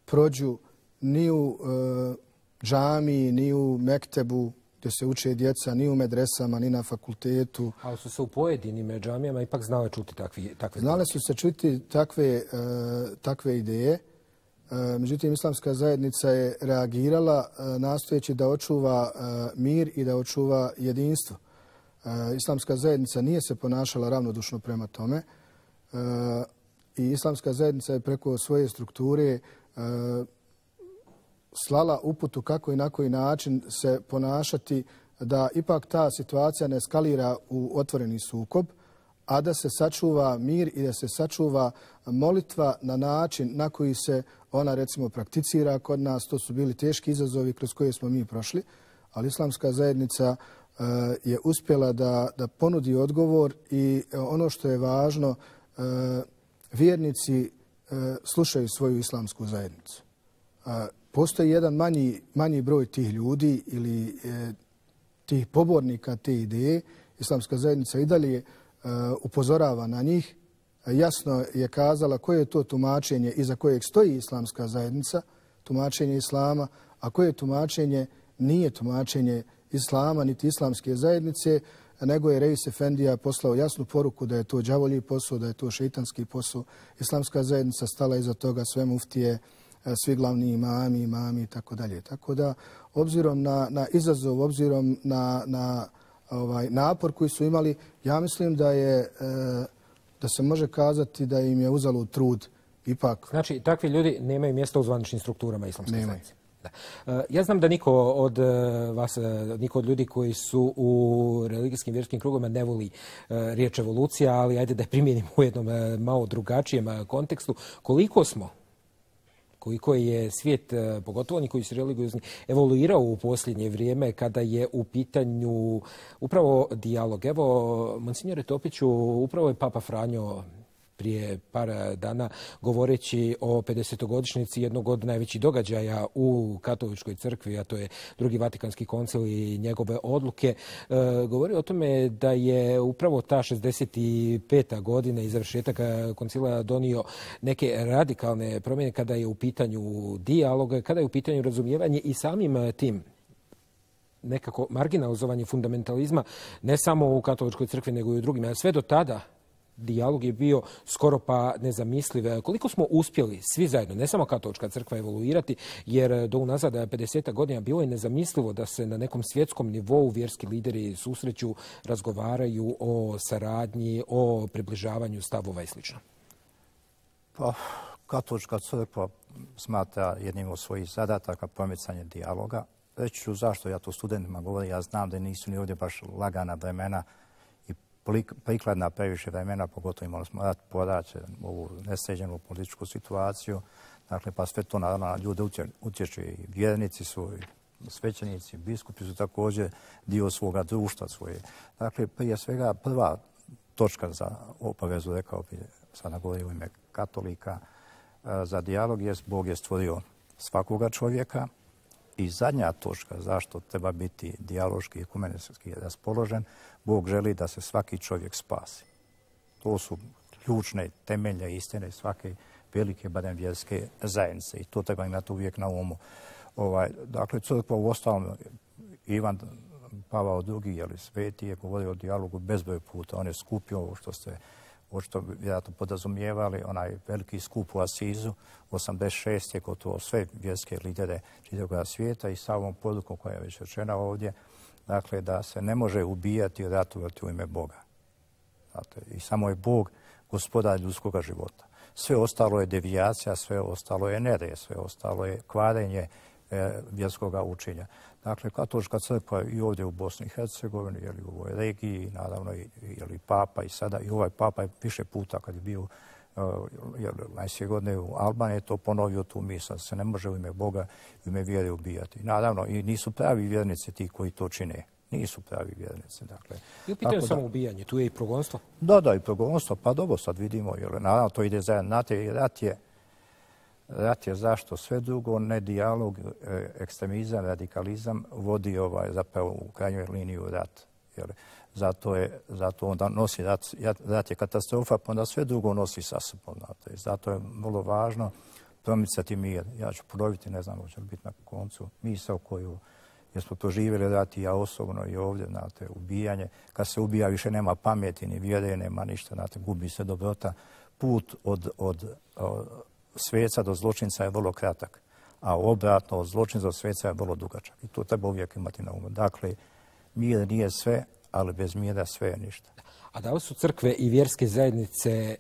prođu ni u uh, džamiji, ni u mektebu gdje se uče djeca, ni u medresama, ni na fakultetu. Ali su se u pojedinim džamijama ipak znale čuti takvi, takve Znale su se čuti takve, uh, takve ideje. Međutim, islamska zajednica je reagirala nastojeći da očuva mir i da očuva jedinstvo. Islamska zajednica nije se ponašala ravnodušno prema tome i islamska zajednica je preko svoje strukture slala uputu kako i na koji način se ponašati da ipak ta situacija ne eskalira u otvoreni sukob, a da se sačuva mir i da se sačuva molitva na način na koji se ona recimo prakticira kod nas. To su bili teški izazovi kroz koje smo mi prošli, ali islamska zajednica uh, je uspjela da, da ponudi odgovor i uh, ono što je važno, uh, vjernici uh, slušaju svoju islamsku zajednicu. Uh, postoji jedan manji, manji broj tih ljudi ili e, tih pobornika te ideje. Islamska zajednica i dalje e, upozorava na njih. Jasno je kazala koje je to tumačenje iza kojeg stoji islamska zajednica, tumačenje islama, a koje tumačenje nije tumačenje islama niti islamske zajednice, nego je Reis Efendija poslao jasnu poruku da je to đavolji posao, da je to šeitanski posao. Islamska zajednica stala iza toga, sve muftije, svi glavni imami, imami i tako dalje. Tako da, obzirom na, na izazov, obzirom na, na ovaj, napor koji su imali, ja mislim da je, da se može kazati da im je uzalo trud ipak. Znači, takvi ljudi nemaju mjesta u zvaničnim strukturama islamske zajednice. Da. Ja znam da niko od vas, niko od ljudi koji su u religijskim vjerskim krugovima ne voli riječ evolucija, ali ajde da je primijenimo u jednom malo drugačijem kontekstu. Koliko smo, koliko je svijet, pogotovo oni koji su religiozni, evoluirao u posljednje vrijeme kada je u pitanju upravo dijalog. Evo, monsignore Topiću, upravo je Papa Franjo prije par dana govoreći o pedesetogodišnjici jednog od najvećih događaja u katoličkoj crkvi, a to je drugi Vatikanski koncil i njegove odluke, govori o tome da je upravo ta šezdeset peta godina i završetak koncila donio neke radikalne promjene kada je u pitanju dijalog, kada je u pitanju razumijevanje i samim tim nekako marginalizovanje fundamentalizma ne samo u katoličkoj crkvi nego i u drugim. A sve do tada dijalog je bio skoro pa nezamisliv. Koliko smo uspjeli svi zajedno, ne samo katolička crkva, evoluirati, jer do unazad pedeset godina bilo je nezamislivo da se na nekom svjetskom nivou vjerski lideri susreću, razgovaraju o saradnji, o približavanju stavova i sl. Pa, katolička crkva smatra jednim od svojih zadataka promicanje dijaloga. Reći ću zašto ja to studentima govorim. Ja znam da nisu ni ovdje baš lagana vremena prikladna previše vremena, pogotovo imali smo rat, poraće, ovu nesređenu političku situaciju. Dakle, pa sve to naravno na ljude utječe i vjernici su, i svećenici, biskupi su također dio svoga društva svoje. Dakle, prije svega prva točka za obavezu, rekao bi, sada govori u ime katolika, za dijalog je Bog je stvorio svakoga čovjeka. I zadnja točka zašto treba biti dijaloški i ekumenski raspoložen, Bog želi da se svaki čovjek spasi. To su ključne temelje istine svake velike, barem vjerske zajednice. I to treba imati uvijek na umu. Ovaj, dakle, crkva u ostalom, Ivan Pavao drugi, jeli, sveti, je govorio o dijalogu bezbroj puta. On je skupio ovo što ste očito vjerojatno podrazumijevali, onaj veliki skup u Asizu, osamdeset šest je gotovo sve vjerske lidere čitavog svijeta i sa ovom porukom koja je već rečena ovdje, dakle da se ne može ubijati i ratovati u ime Boga. Znate, i samo je Bog gospodar ljudskog života. Sve ostalo je devijacija, sve ostalo je nerije, sve ostalo je kvarenje e, vjerskog učenja. Dakle, katolička crkva i ovdje u Bosni i Hercegovini, ili u ovoj regiji, naravno i ili papa i sada, i ovaj papa je više puta kad je bio najsvije godine u Albaniji, je to ponovio tu misao, se ne može u ime Boga i u ime vjere ubijati. Naravno, i nisu pravi vjernici ti koji to čine. Nisu pravi vjernici. Dakle, I u pitanju samo ubijanje, tu je i progonstvo? Da, da, i progonstvo, pa dobro sad vidimo, jer naravno to ide zajedno. Znate, rat je Rat je zašto sve drugo, ne dijalog, ekstremizam, radikalizam vodi ovaj, zapravo u krajnjoj liniju rat. Jer zato, je, zato onda nosi rat, rat je katastrofa, pa onda sve drugo nosi sa sobom. Znate. Zato je vrlo važno promicati mir. Ja ću ponoviti, ne znam, hoće li biti na koncu, misao koju jer smo to živjeli rat i ja osobno i ovdje, znate, ubijanje. Kad se ubija više nema pameti, ni vjere, nema ništa, znate, gubi se dobrota. Put od, od, od sveca do zločinca je vrlo kratak, a obratno od zločinca do sveca je vrlo dugačak. I to treba uvijek imati na umu. Dakle, mir nije sve, ali bez mira sve je ništa. A da li su crkve i vjerske zajednice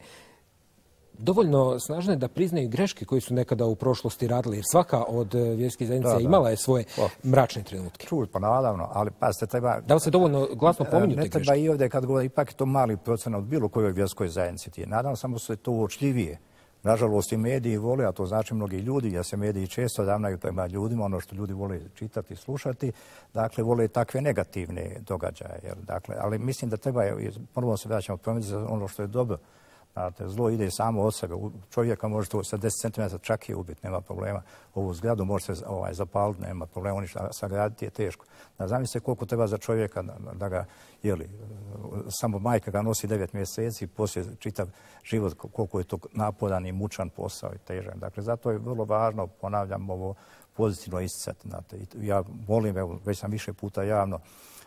dovoljno snažne da priznaju greške koje su nekada u prošlosti radili? Jer svaka od vjerskih zajednica da, imala je svoje o, mračne trenutke. Čuj, pa naravno, ali pazite, treba... Da li se dovoljno glasno pominju te greške? Ne treba i ovdje kad govori, ipak je to mali procenat od bilo kojoj vjerskoj zajednici ti je. Naravno, samo se to uočljivije. Nažalost, i mediji vole, a to znači mnogi ljudi, jer se mediji često ravnaju prema ljudima, ono što ljudi vole čitati i slušati, dakle, vole takve negativne događaje. Jer, dakle, ali mislim da treba, prvo se vraćamo promicati ono što je dobro. Znate, zlo ide samo od sebe. Čovjeka možete sa deset centimetara čak i ubiti, nema problema. Ovu zgradu možete ovaj, zapaliti, nema problema, ništa sagraditi je teško. Da zamislite koliko treba za čovjeka da, da ga, jeli, samo majka ga nosi devet mjeseci, poslije čitav život, koliko je to naporan i mučan posao i težan. Dakle, zato je vrlo važno, ponavljam, ovo pozitivno isticati. Znate. Ja volim, evo, već sam više puta javno,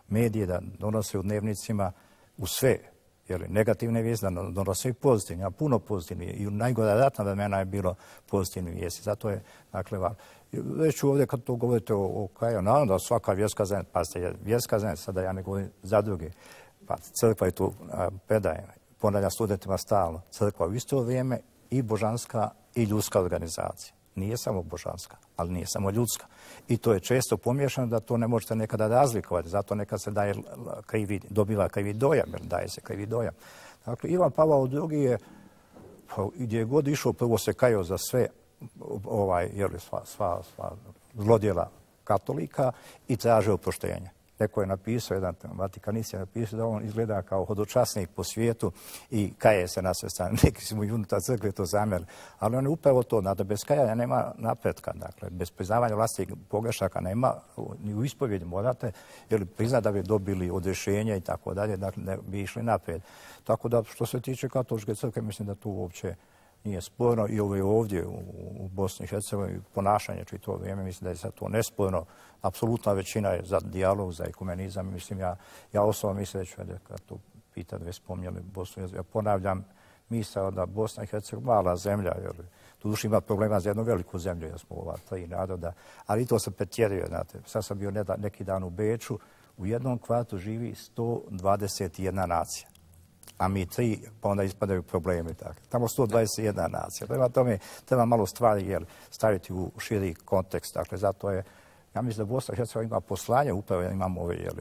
medije da donose u dnevnicima u sve, jer negativne vijesti da donose i pozitivne, a puno pozitivne. I u najgora ratna vremena je bilo pozitivne vijesti. Zato je, dakle, vam. Već ću ovdje kad to govorite o, o Kaju, naravno da svaka vjerska zajednica, pazite, vjerska zajednica, sada ja ne govorim za druge, pa crkva je tu predaje, ponavljam studentima stalno, crkva u isto vrijeme i božanska i ljudska organizacija. Nije samo božanska, ali nije samo ljudska. I to je često pomiješano da to ne možete nekada razlikovati. Zato nekad se daje krivi, dobiva krivi dojam, jer daje se krivi dojam. Dakle, Ivan Pavao drugi je, pa, gdje je god išao, prvo se kajao za sve ovaj, jeli, sva, sva, sva zlodjela katolika i tražio oproštenje. Neko je napisao, jedan vatikanist je napisao da on izgleda kao hodočasnik po svijetu i kaje se na sve strane. Neki su mu i unutar crkve to zamjerili. Ali on je upravo to, da bez kajanja nema napretka. Dakle, bez priznavanja vlastnih pogrešaka nema, ni u ispovjedi morate, jer prizna da bi dobili odrješenje i tako dalje, dakle, ne bi išli naprijed. Tako da, što se tiče katoličke crkve, mislim da tu uopće nije sporno i ovo je ovdje u, u Bosni i Hercegovini ponašanje čito vrijeme, mislim da je sad to nesporno. Apsolutna većina je za dijalog, za ekumenizam. Mislim, ja, ja osobno mislim već kad to pitate, već spomnjeli Bosnu i Hercegovini. Ja ponavljam misao da Bosna i Hercegovina mala zemlja, jer tu duši ima problema za jednu veliku zemlju, jer smo ova tri naroda, ali to se pretjeruje, znate. Sad sam bio neki dan u Beču, u jednom kvartu živi sto dvadeset jedna nacija. A mi tri, pa onda ispadaju problemi. Tako. Tamo sto dvadeset jedna nacija. Prema tome treba malo stvari jer, staviti u širi kontekst. Dakle, zato je, ja mislim da Bosna i Hercegovina ima poslanje, upravo imamo ove jel,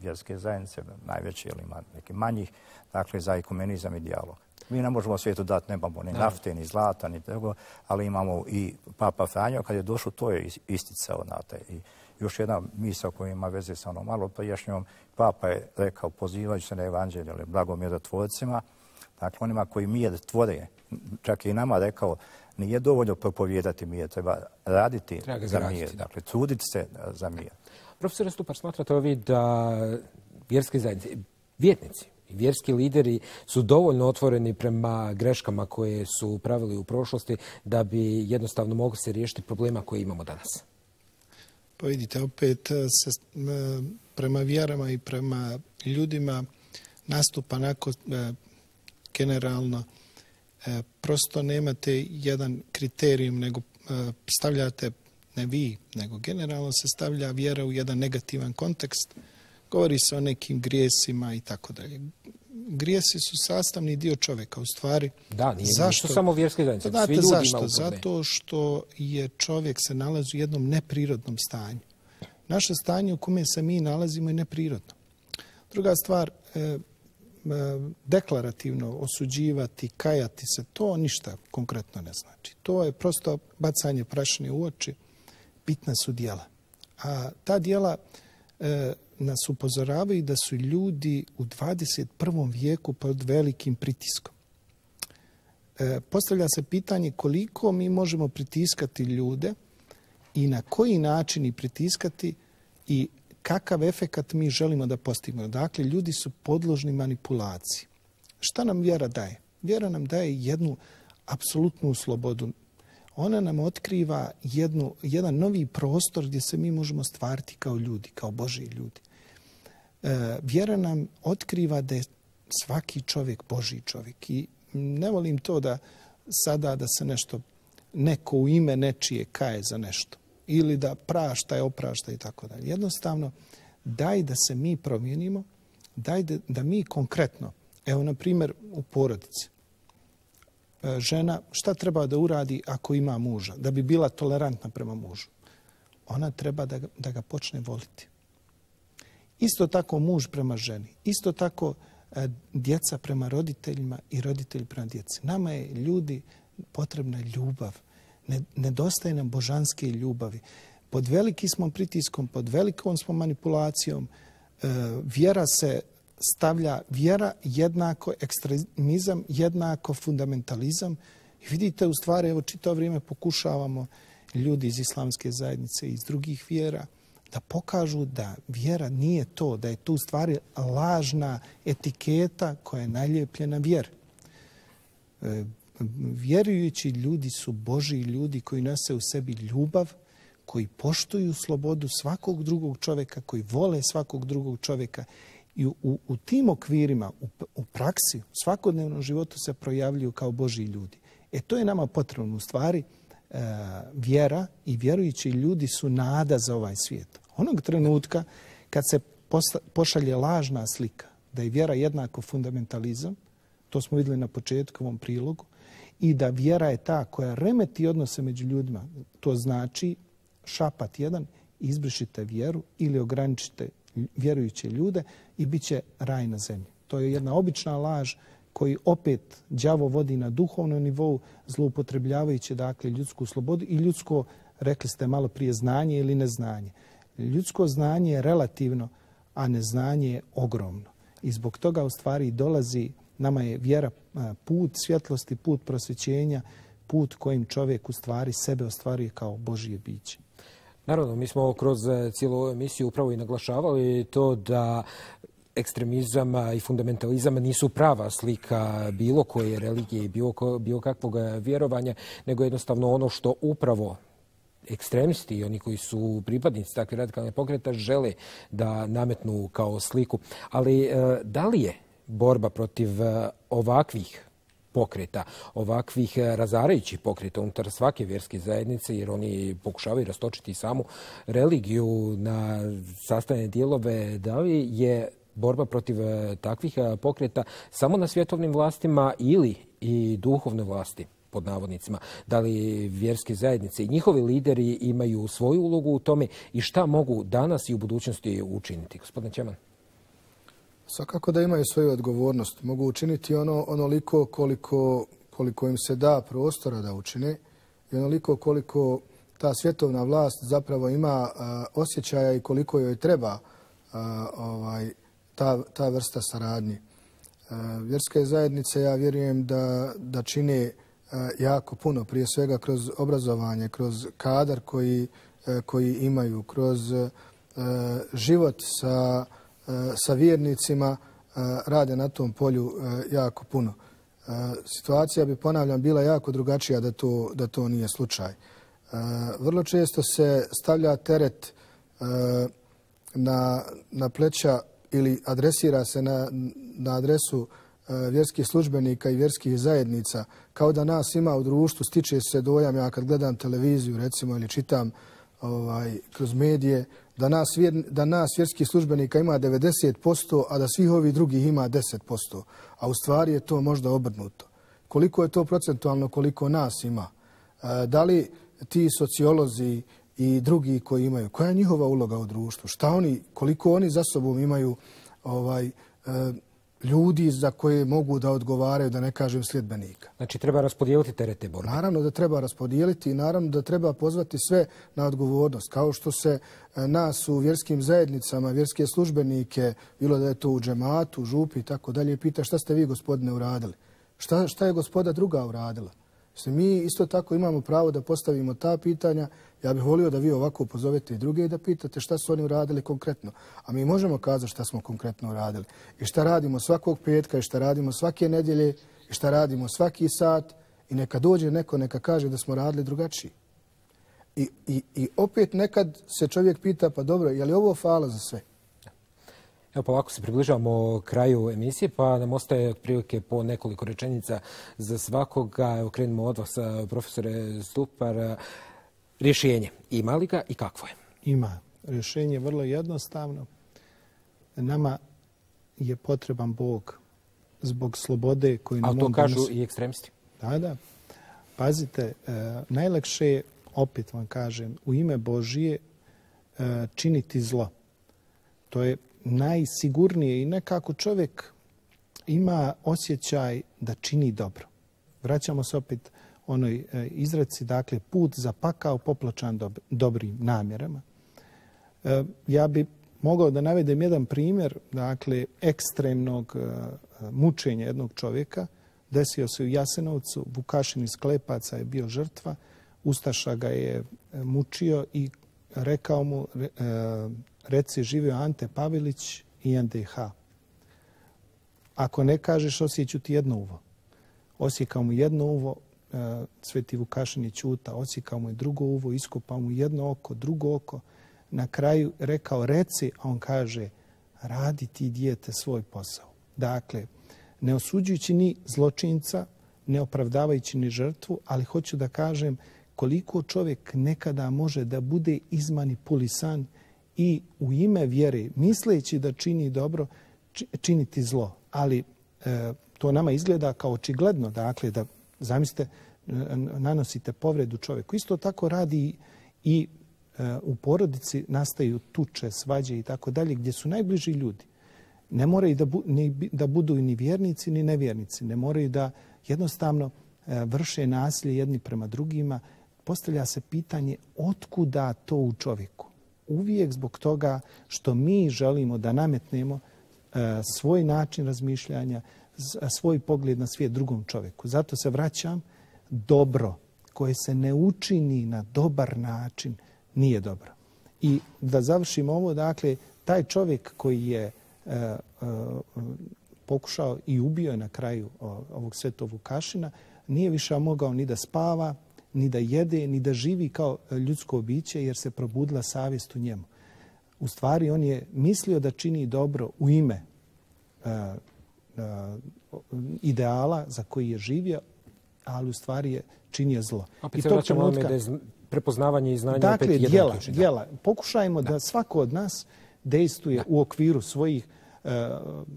vjerske zajednice, najveće, jel, ima neki manjih, dakle, za ekumenizam i dijalog. Mi ne možemo svijetu dati, nemamo ni nafte, ni zlata, ni tego, ali imamo i Papa Franjo, kad je došao, to je isticao, znate, i još jedna misao koja ima veze sa onom malo prijašnjom. Papa je rekao, pozivajući se na evanđelje, blagom mirotvorcima, dakle onima koji mir tvore, čak i nama rekao, nije dovoljno propovijedati mir, treba raditi treba za mir, dakle truditi se za mir. Profesor Stupar, smatrate ovi da vjerske zajednice, vjetnici i vjerski lideri su dovoljno otvoreni prema greškama koje su pravili u prošlosti da bi jednostavno mogli se riješiti problema koje imamo danas? Pa vidite, opet se prema vjerama i prema ljudima nastupa onako generalno. Prosto nemate jedan kriterijum, nego stavljate, ne vi, nego generalno se stavlja vjera u jedan negativan kontekst. Govori se o nekim grijesima i tako dalje. Grijesi su sastavni dio čovjeka, u stvari. Da, nije zašto? Samo vjerske zajednice. Znate zašto? Zato što je čovjek se nalazi u jednom neprirodnom stanju. Naše stanje u kome se mi nalazimo je neprirodno. Druga stvar, e, deklarativno osuđivati, kajati se, to ništa konkretno ne znači. To je prosto bacanje prašine u oči, bitna su djela. A ta djela e, nas upozoravaju da su ljudi u dvadeset prvom vijeku pod velikim pritiskom. E, postavlja se pitanje koliko mi možemo pritiskati ljude i na koji način ih pritiskati i kakav efekat mi želimo da postignemo. Dakle, ljudi su podložni manipulaciji. Šta nam vjera daje? Vjera nam daje jednu apsolutnu slobodu. Ona nam otkriva jednu, jedan novi prostor gdje se mi možemo stvariti kao ljudi, kao Božji ljudi. E, vjera nam otkriva da je svaki čovjek Božji čovjek. I ne volim to da sada da se nešto, neko u ime nečije kaje za nešto. Ili da prašta je oprašta i tako dalje. Jednostavno, daj da se mi promijenimo, daj da, da mi konkretno, evo na primjer u porodici, žena šta treba da uradi ako ima muža, da bi bila tolerantna prema mužu? Ona treba da ga, da ga počne voliti. Isto tako muž prema ženi, isto tako djeca prema roditeljima i roditelji prema djeci. Nama je ljudi potrebna ljubav. Nedostaje nam božanske ljubavi. Pod veliki smo pritiskom, pod velikom smo manipulacijom. Vjera se stavlja vjera jednako ekstremizam, jednako fundamentalizam. I vidite, u stvari, evo čitavo vrijeme pokušavamo ljudi iz islamske zajednice i iz drugih vjera da pokažu da vjera nije to, da je tu u stvari lažna etiketa koja je nalijepljena vjeri. E, vjerujući ljudi su Božji ljudi koji nose u sebi ljubav, koji poštuju slobodu svakog drugog čovjeka, koji vole svakog drugog čovjeka. I u, u, u tim okvirima, u, u praksi, u svakodnevnom životu se projavljuju kao Božji ljudi. E to je nama potrebno u stvari. E, vjera i vjerujući ljudi su nada za ovaj svijet. Onog trenutka kad se posta, pošalje lažna slika da je vjera jednako fundamentalizam, to smo vidjeli na početku ovom prilogu, i da vjera je ta koja remeti odnose među ljudima, to znači šapat jedan, izbrišite vjeru ili ograničite vjerujuće ljude i bit će raj na zemlji. To je jedna obična laž koji opet đavo vodi na duhovnom nivou, zloupotrebljavajući dakle ljudsku slobodu i ljudsko, rekli ste malo prije, znanje ili neznanje. Ljudsko znanje je relativno, a neznanje je ogromno. I zbog toga u stvari dolazi, nama je vjera put svjetlosti, put prosvjećenja, put kojim čovjek u stvari sebe ostvaruje kao Božje biće. Naravno, mi smo kroz cijelu ovu emisiju upravo i naglašavali to da ekstremizam i fundamentalizam nisu prava slika bilo koje religije i bilo, bilo kakvog vjerovanja, nego jednostavno ono što upravo ekstremisti i oni koji su pripadnici takve radikalne pokreta žele da nametnu kao sliku. Ali da li je borba protiv ovakvih pokreta, ovakvih razarajućih pokreta unutar svake vjerske zajednice, jer oni pokušavaju rastočiti samu religiju na sastavne dijelove, da li je borba protiv takvih pokreta samo na svjetovnim vlastima ili i duhovne vlasti, pod navodnicima? Da li vjerske zajednice i njihovi lideri imaju svoju ulogu u tome i šta mogu danas i u budućnosti učiniti? Gospodine Ćeman. Svakako da imaju svoju odgovornost. Mogu učiniti ono onoliko koliko, koliko im se da prostora da učine i onoliko koliko ta svjetovna vlast zapravo ima a, osjećaja i koliko joj treba a, ovaj, ta, ta vrsta saradnje. A, vjerske zajednice, ja vjerujem da, da čine a, jako puno, prije svega kroz obrazovanje, kroz kadar koji, a, koji imaju, kroz a, život sa sa vjernicima, rade na tom polju jako puno. Situacija bi, ponavljam, bila jako drugačija da to, da to nije slučaj. Vrlo često se stavlja teret na, na pleća ili adresira se na, na adresu vjerskih službenika i vjerskih zajednica, kao da nas ima u društvu. Stiče se dojam, ja kad gledam televiziju recimo ili čitam ovaj, kroz medije, da nas, da nas vjerskih službenika ima devedeset posto, a da svih ovih drugih ima deset posto. A u stvari je to možda obrnuto. Koliko je to procentualno, koliko nas ima? Da li ti sociolozi i drugi koji imaju, koja je njihova uloga u društvu? Šta oni, koliko oni za sobom imaju ovaj, ljudi za koje mogu da odgovaraju, da ne kažem sljedbenika. Znači treba raspodijeliti terete borbe. Naravno da treba raspodijeliti i naravno da treba pozvati sve na odgovornost. Kao što se nas u vjerskim zajednicama, vjerske službenike, bilo da je to u džematu, župi i tako dalje, pita šta ste vi, gospodine, uradili? Šta, šta je gospoda druga uradila? Mi isto tako imamo pravo da postavimo ta pitanja. Ja bih volio da vi ovako pozovete i druge i da pitate šta su oni uradili konkretno. A mi možemo kazati šta smo konkretno uradili. I šta radimo svakog petka, i šta radimo svake nedjelje, i šta radimo svaki sat. I neka dođe neko, neka kaže da smo radili drugačiji. I, i, i opet nekad se čovjek pita, pa dobro, je li ovo fala za sve? Evo, polako se približavamo kraju emisije, pa nam ostaje prilike po nekoliko rečenica za svakoga. Evo, krenimo od vas, profesore Stupar. Rješenje, ima li ga i kakvo je? Ima. Rješenje je vrlo jednostavno. Nama je potreban Bog zbog slobode koju nam on donosi. A to kažu i ekstremisti. Da, da. Pazite, najlakše je, opet vam kažem, u ime Božije činiti zlo. To je najsigurnije i nekako čovjek ima osjećaj da čini dobro. Vraćamo se opet onoj izreci, dakle, put za pakao popločan dob dobrim namjerama. Ja bi mogao da navedem jedan primjer, dakle, ekstremnog mučenja jednog čovjeka. Desio se u Jasenovcu, Vukašin iz Klepaca je bio žrtva, Ustaša ga je mučio i rekao mu, reci živio Ante Pavelić i en de ha. Ako ne kažeš, osjeću ti jedno uvo. Osjekao mu jedno uvo, Sveti Vukašin je ćuta, osjekao mu je drugo uvo, iskopao mu jedno oko, drugo oko. Na kraju rekao reci, a on kaže radi ti dijete svoj posao. Dakle, ne osuđujući ni zločinca, ne opravdavajući ni žrtvu, ali hoću da kažem koliko čovjek nekada može da bude izmanipulisan i u ime vjere, misleći da čini dobro, činiti zlo. Ali e, to nama izgleda kao očigledno, dakle, da zamislite, nanosite povredu čovjeku. Isto tako radi i e, u porodici nastaju tuče, svađe i tako dalje, gdje su najbliži ljudi. Ne moraju da, bu, ni, da budu ni vjernici ni nevjernici. Ne moraju da jednostavno e, vrše nasilje jedni prema drugima. Postavlja se pitanje otkuda to u čovjeku. Uvijek zbog toga što mi želimo da nametnemo e, svoj način razmišljanja, svoj pogled na svijet drugom čovjeku. Zato se vraćam, dobro koje se ne učini na dobar način nije dobro. I da završim ovo, dakle, taj čovjek koji je e, e, pokušao i ubio je na kraju ovog Svetog Vukašina, nije više mogao ni da spava, ni da jede, ni da živi kao ljudsko biće, jer se probudila savjest u njemu. U stvari, on je mislio da čini dobro u ime e, e, ideala za koji je živio, ali u stvari je činio zlo. Opet se vraćamo ovome da je prepoznavanje i znanje dakle, opet djela, jedan ključ. Djela. Pokušajmo da. da svako od nas dejstvuje da. u okviru svojih uh,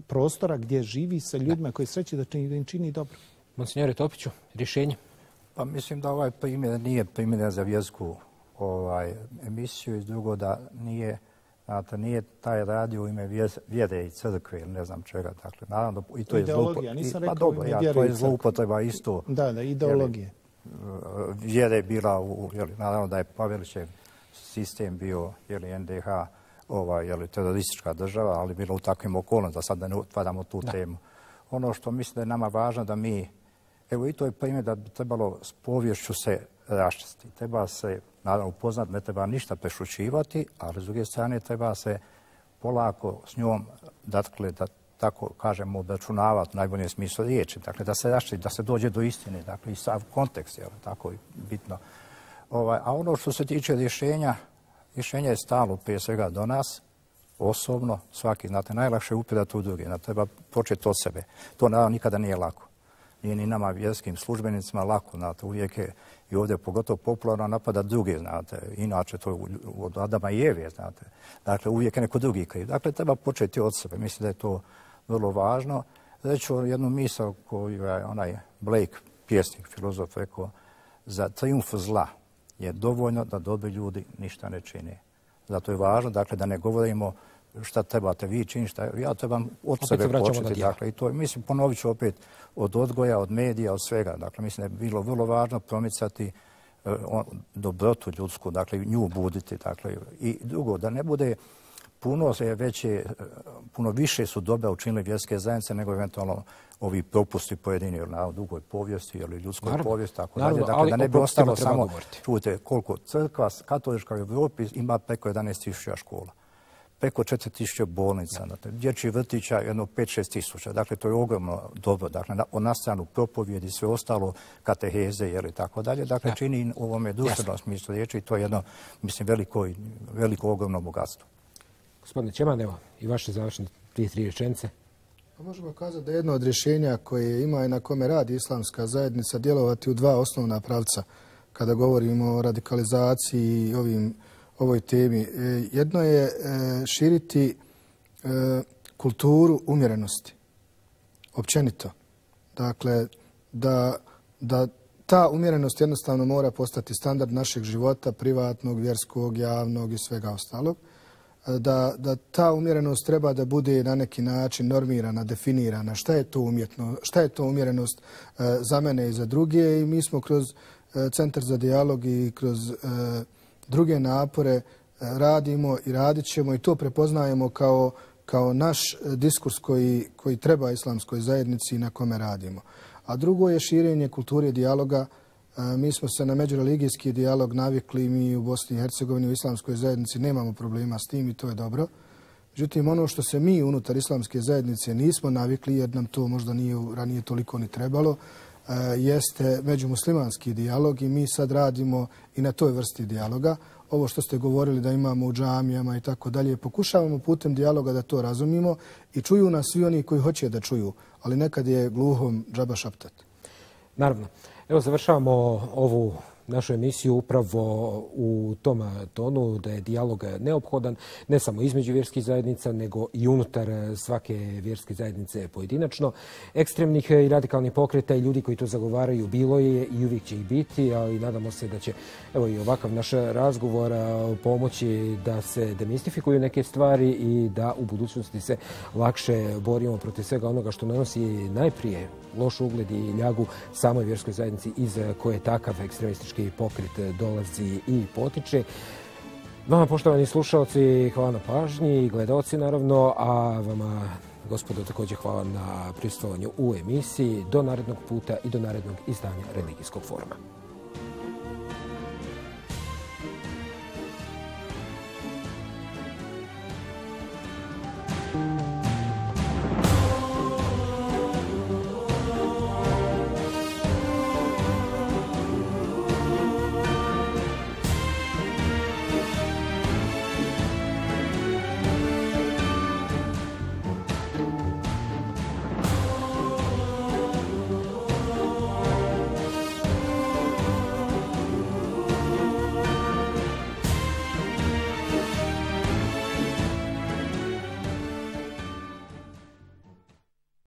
prostora gdje živi sa ljudima da. koji sreće da, čini, da im čini dobro. Monsignore Topiću, rješenje? Pa mislim da ovaj primjer nije primjer za vjersku ovaj, emisiju i drugo da nije, znate, nije taj radio u ime vjere i crkve ili ne znam čega. Dakle, naravno, i to ideologija, je nisam i, rekao pa dobro, ime ja, vjere to i je zloupotreba isto. Da, da, ideologije. Vjere je bila, u, jeli, naravno da je Pavelićev sistem bio, jeli, en de ha, ovaj, jeli, teroristička država, ali bilo u takvim okolnostima, da sad da ne otvaramo tu da. temu. Ono što mislim da je nama važno da mi, evo i to je primjer da bi trebalo s povješću se raščisti. Treba se, naravno, upoznat, ne treba ništa prešućivati, ali s druge strane treba se polako s njom, dakle, da tako kažemo, obračunavati u najboljem smislu riječi. Dakle, da se raščisti, da se dođe do istine, dakle, i sav kontekst, je tako bitno. Ovaj, a ono što se tiče rješenja, rješenje je stalo prije svega do nas, osobno, svaki, znate, najlakše je upirati u druge, da treba početi od sebe. To naravno nikada nije lako. Nije ni nama vjerskim službenicima lako, znate, uvijek je i ovdje pogotovo popularno napada druge, znate, inače to je od Adama i Eve, znate. Dakle, uvijek je neko drugi kriv. Dakle, treba početi od sebe. Mislim da je to vrlo važno. Reću jednu misao koju je onaj Blake, pjesnik, filozof, rekao, za trijumf zla je dovoljno da dobri ljudi ništa ne čine. Zato je važno, dakle, da ne govorimo šta trebate vi činiti, šta ja trebam od opet sebe početi. Dakle, i to, mislim, ponovit ću opet od odgoja, od medija, od svega. Dakle, mislim da je bilo vrlo važno promicati uh, on, dobrotu ljudsku, dakle, nju buditi. Dakle, i drugo, da ne bude puno je veće, puno više su dobra učinili vjerske zajednice nego eventualno ovi propusti pojedini na dugoj povijesti ili ljudskoj naravno, povijesti, tako dalje. Dakle, da ne bi ostalo samo, čujte, koliko crkva, katolička u Evropi ima preko jedanaest tisuća škola, preko četiri tisuće bolnica, dakle, dječji vrtića jedno pet šest tisuća. Dakle, to je ogromno dobro. Dakle, na, na stranu propovjedi i sve ostalo, kateheze ili tako dalje. Dakle, ja. čini u ovome društvenom smislu riječi i to je jedno, mislim, veliko, veliko ogromno bogatstvo. Gospodine Čeman, evo, i vaše završne dvije, tri rečenice. Možemo kazati da je jedno od rješenja koje ima i na kome radi islamska zajednica djelovati u dva osnovna pravca kada govorimo o radikalizaciji i ovim, ovoj temi. Jedno je širiti kulturu umjerenosti, općenito. Dakle, da, da ta umjerenost jednostavno mora postati standard našeg života, privatnog, vjerskog, javnog i svega ostalog. Da, da ta umjerenost treba da bude na neki način normirana, definirana. Šta je to umjetno, šta je to umjerenost e, za mene i za druge? I mi smo kroz e, Centar za dijalog i kroz e, druge napore e, radimo i radit ćemo i to prepoznajemo kao, kao naš diskurs koji, koji treba islamskoj zajednici i na kome radimo. A drugo je širenje kulture dijaloga. Mi smo se na međureligijski dijalog navikli, mi u Bosni i Hercegovini u islamskoj zajednici nemamo problema s tim i to je dobro. Međutim, ono što se mi unutar islamske zajednice nismo navikli, jer nam to možda nije ranije toliko ni trebalo, jeste međumuslimanski dijalog i mi sad radimo i na toj vrsti dijaloga. Ovo što ste govorili da imamo u džamijama i tako dalje, pokušavamo putem dijaloga da to razumimo i čuju nas svi oni koji hoće da čuju, ali nekad je gluhom džaba šaptat. Naravno. Evo završavamo ovu našu emisiju upravo u tom tonu da je dijalog neophodan ne samo između vjerskih zajednica, nego i unutar svake vjerske zajednice pojedinačno. Ekstremnih i radikalnih pokreta i ljudi koji to zagovaraju bilo je i uvijek će ih biti, ali nadamo se da će evo i ovakav naš razgovor pomoći da se demistifikuju neke stvari i da u budućnosti se lakše borimo protiv svega onoga što nanosi najprije loš ugled i ljagu samoj vjerskoj zajednici iz koje takav ekstremistički pokret dolazi i potiče. Vama, poštovani slušalci, hvala na pažnji i gledalci naravno, a vama, gospodo, također hvala na prisustvovanju u emisiji. Do narednog puta i do narednog izdanja Religijskog foruma.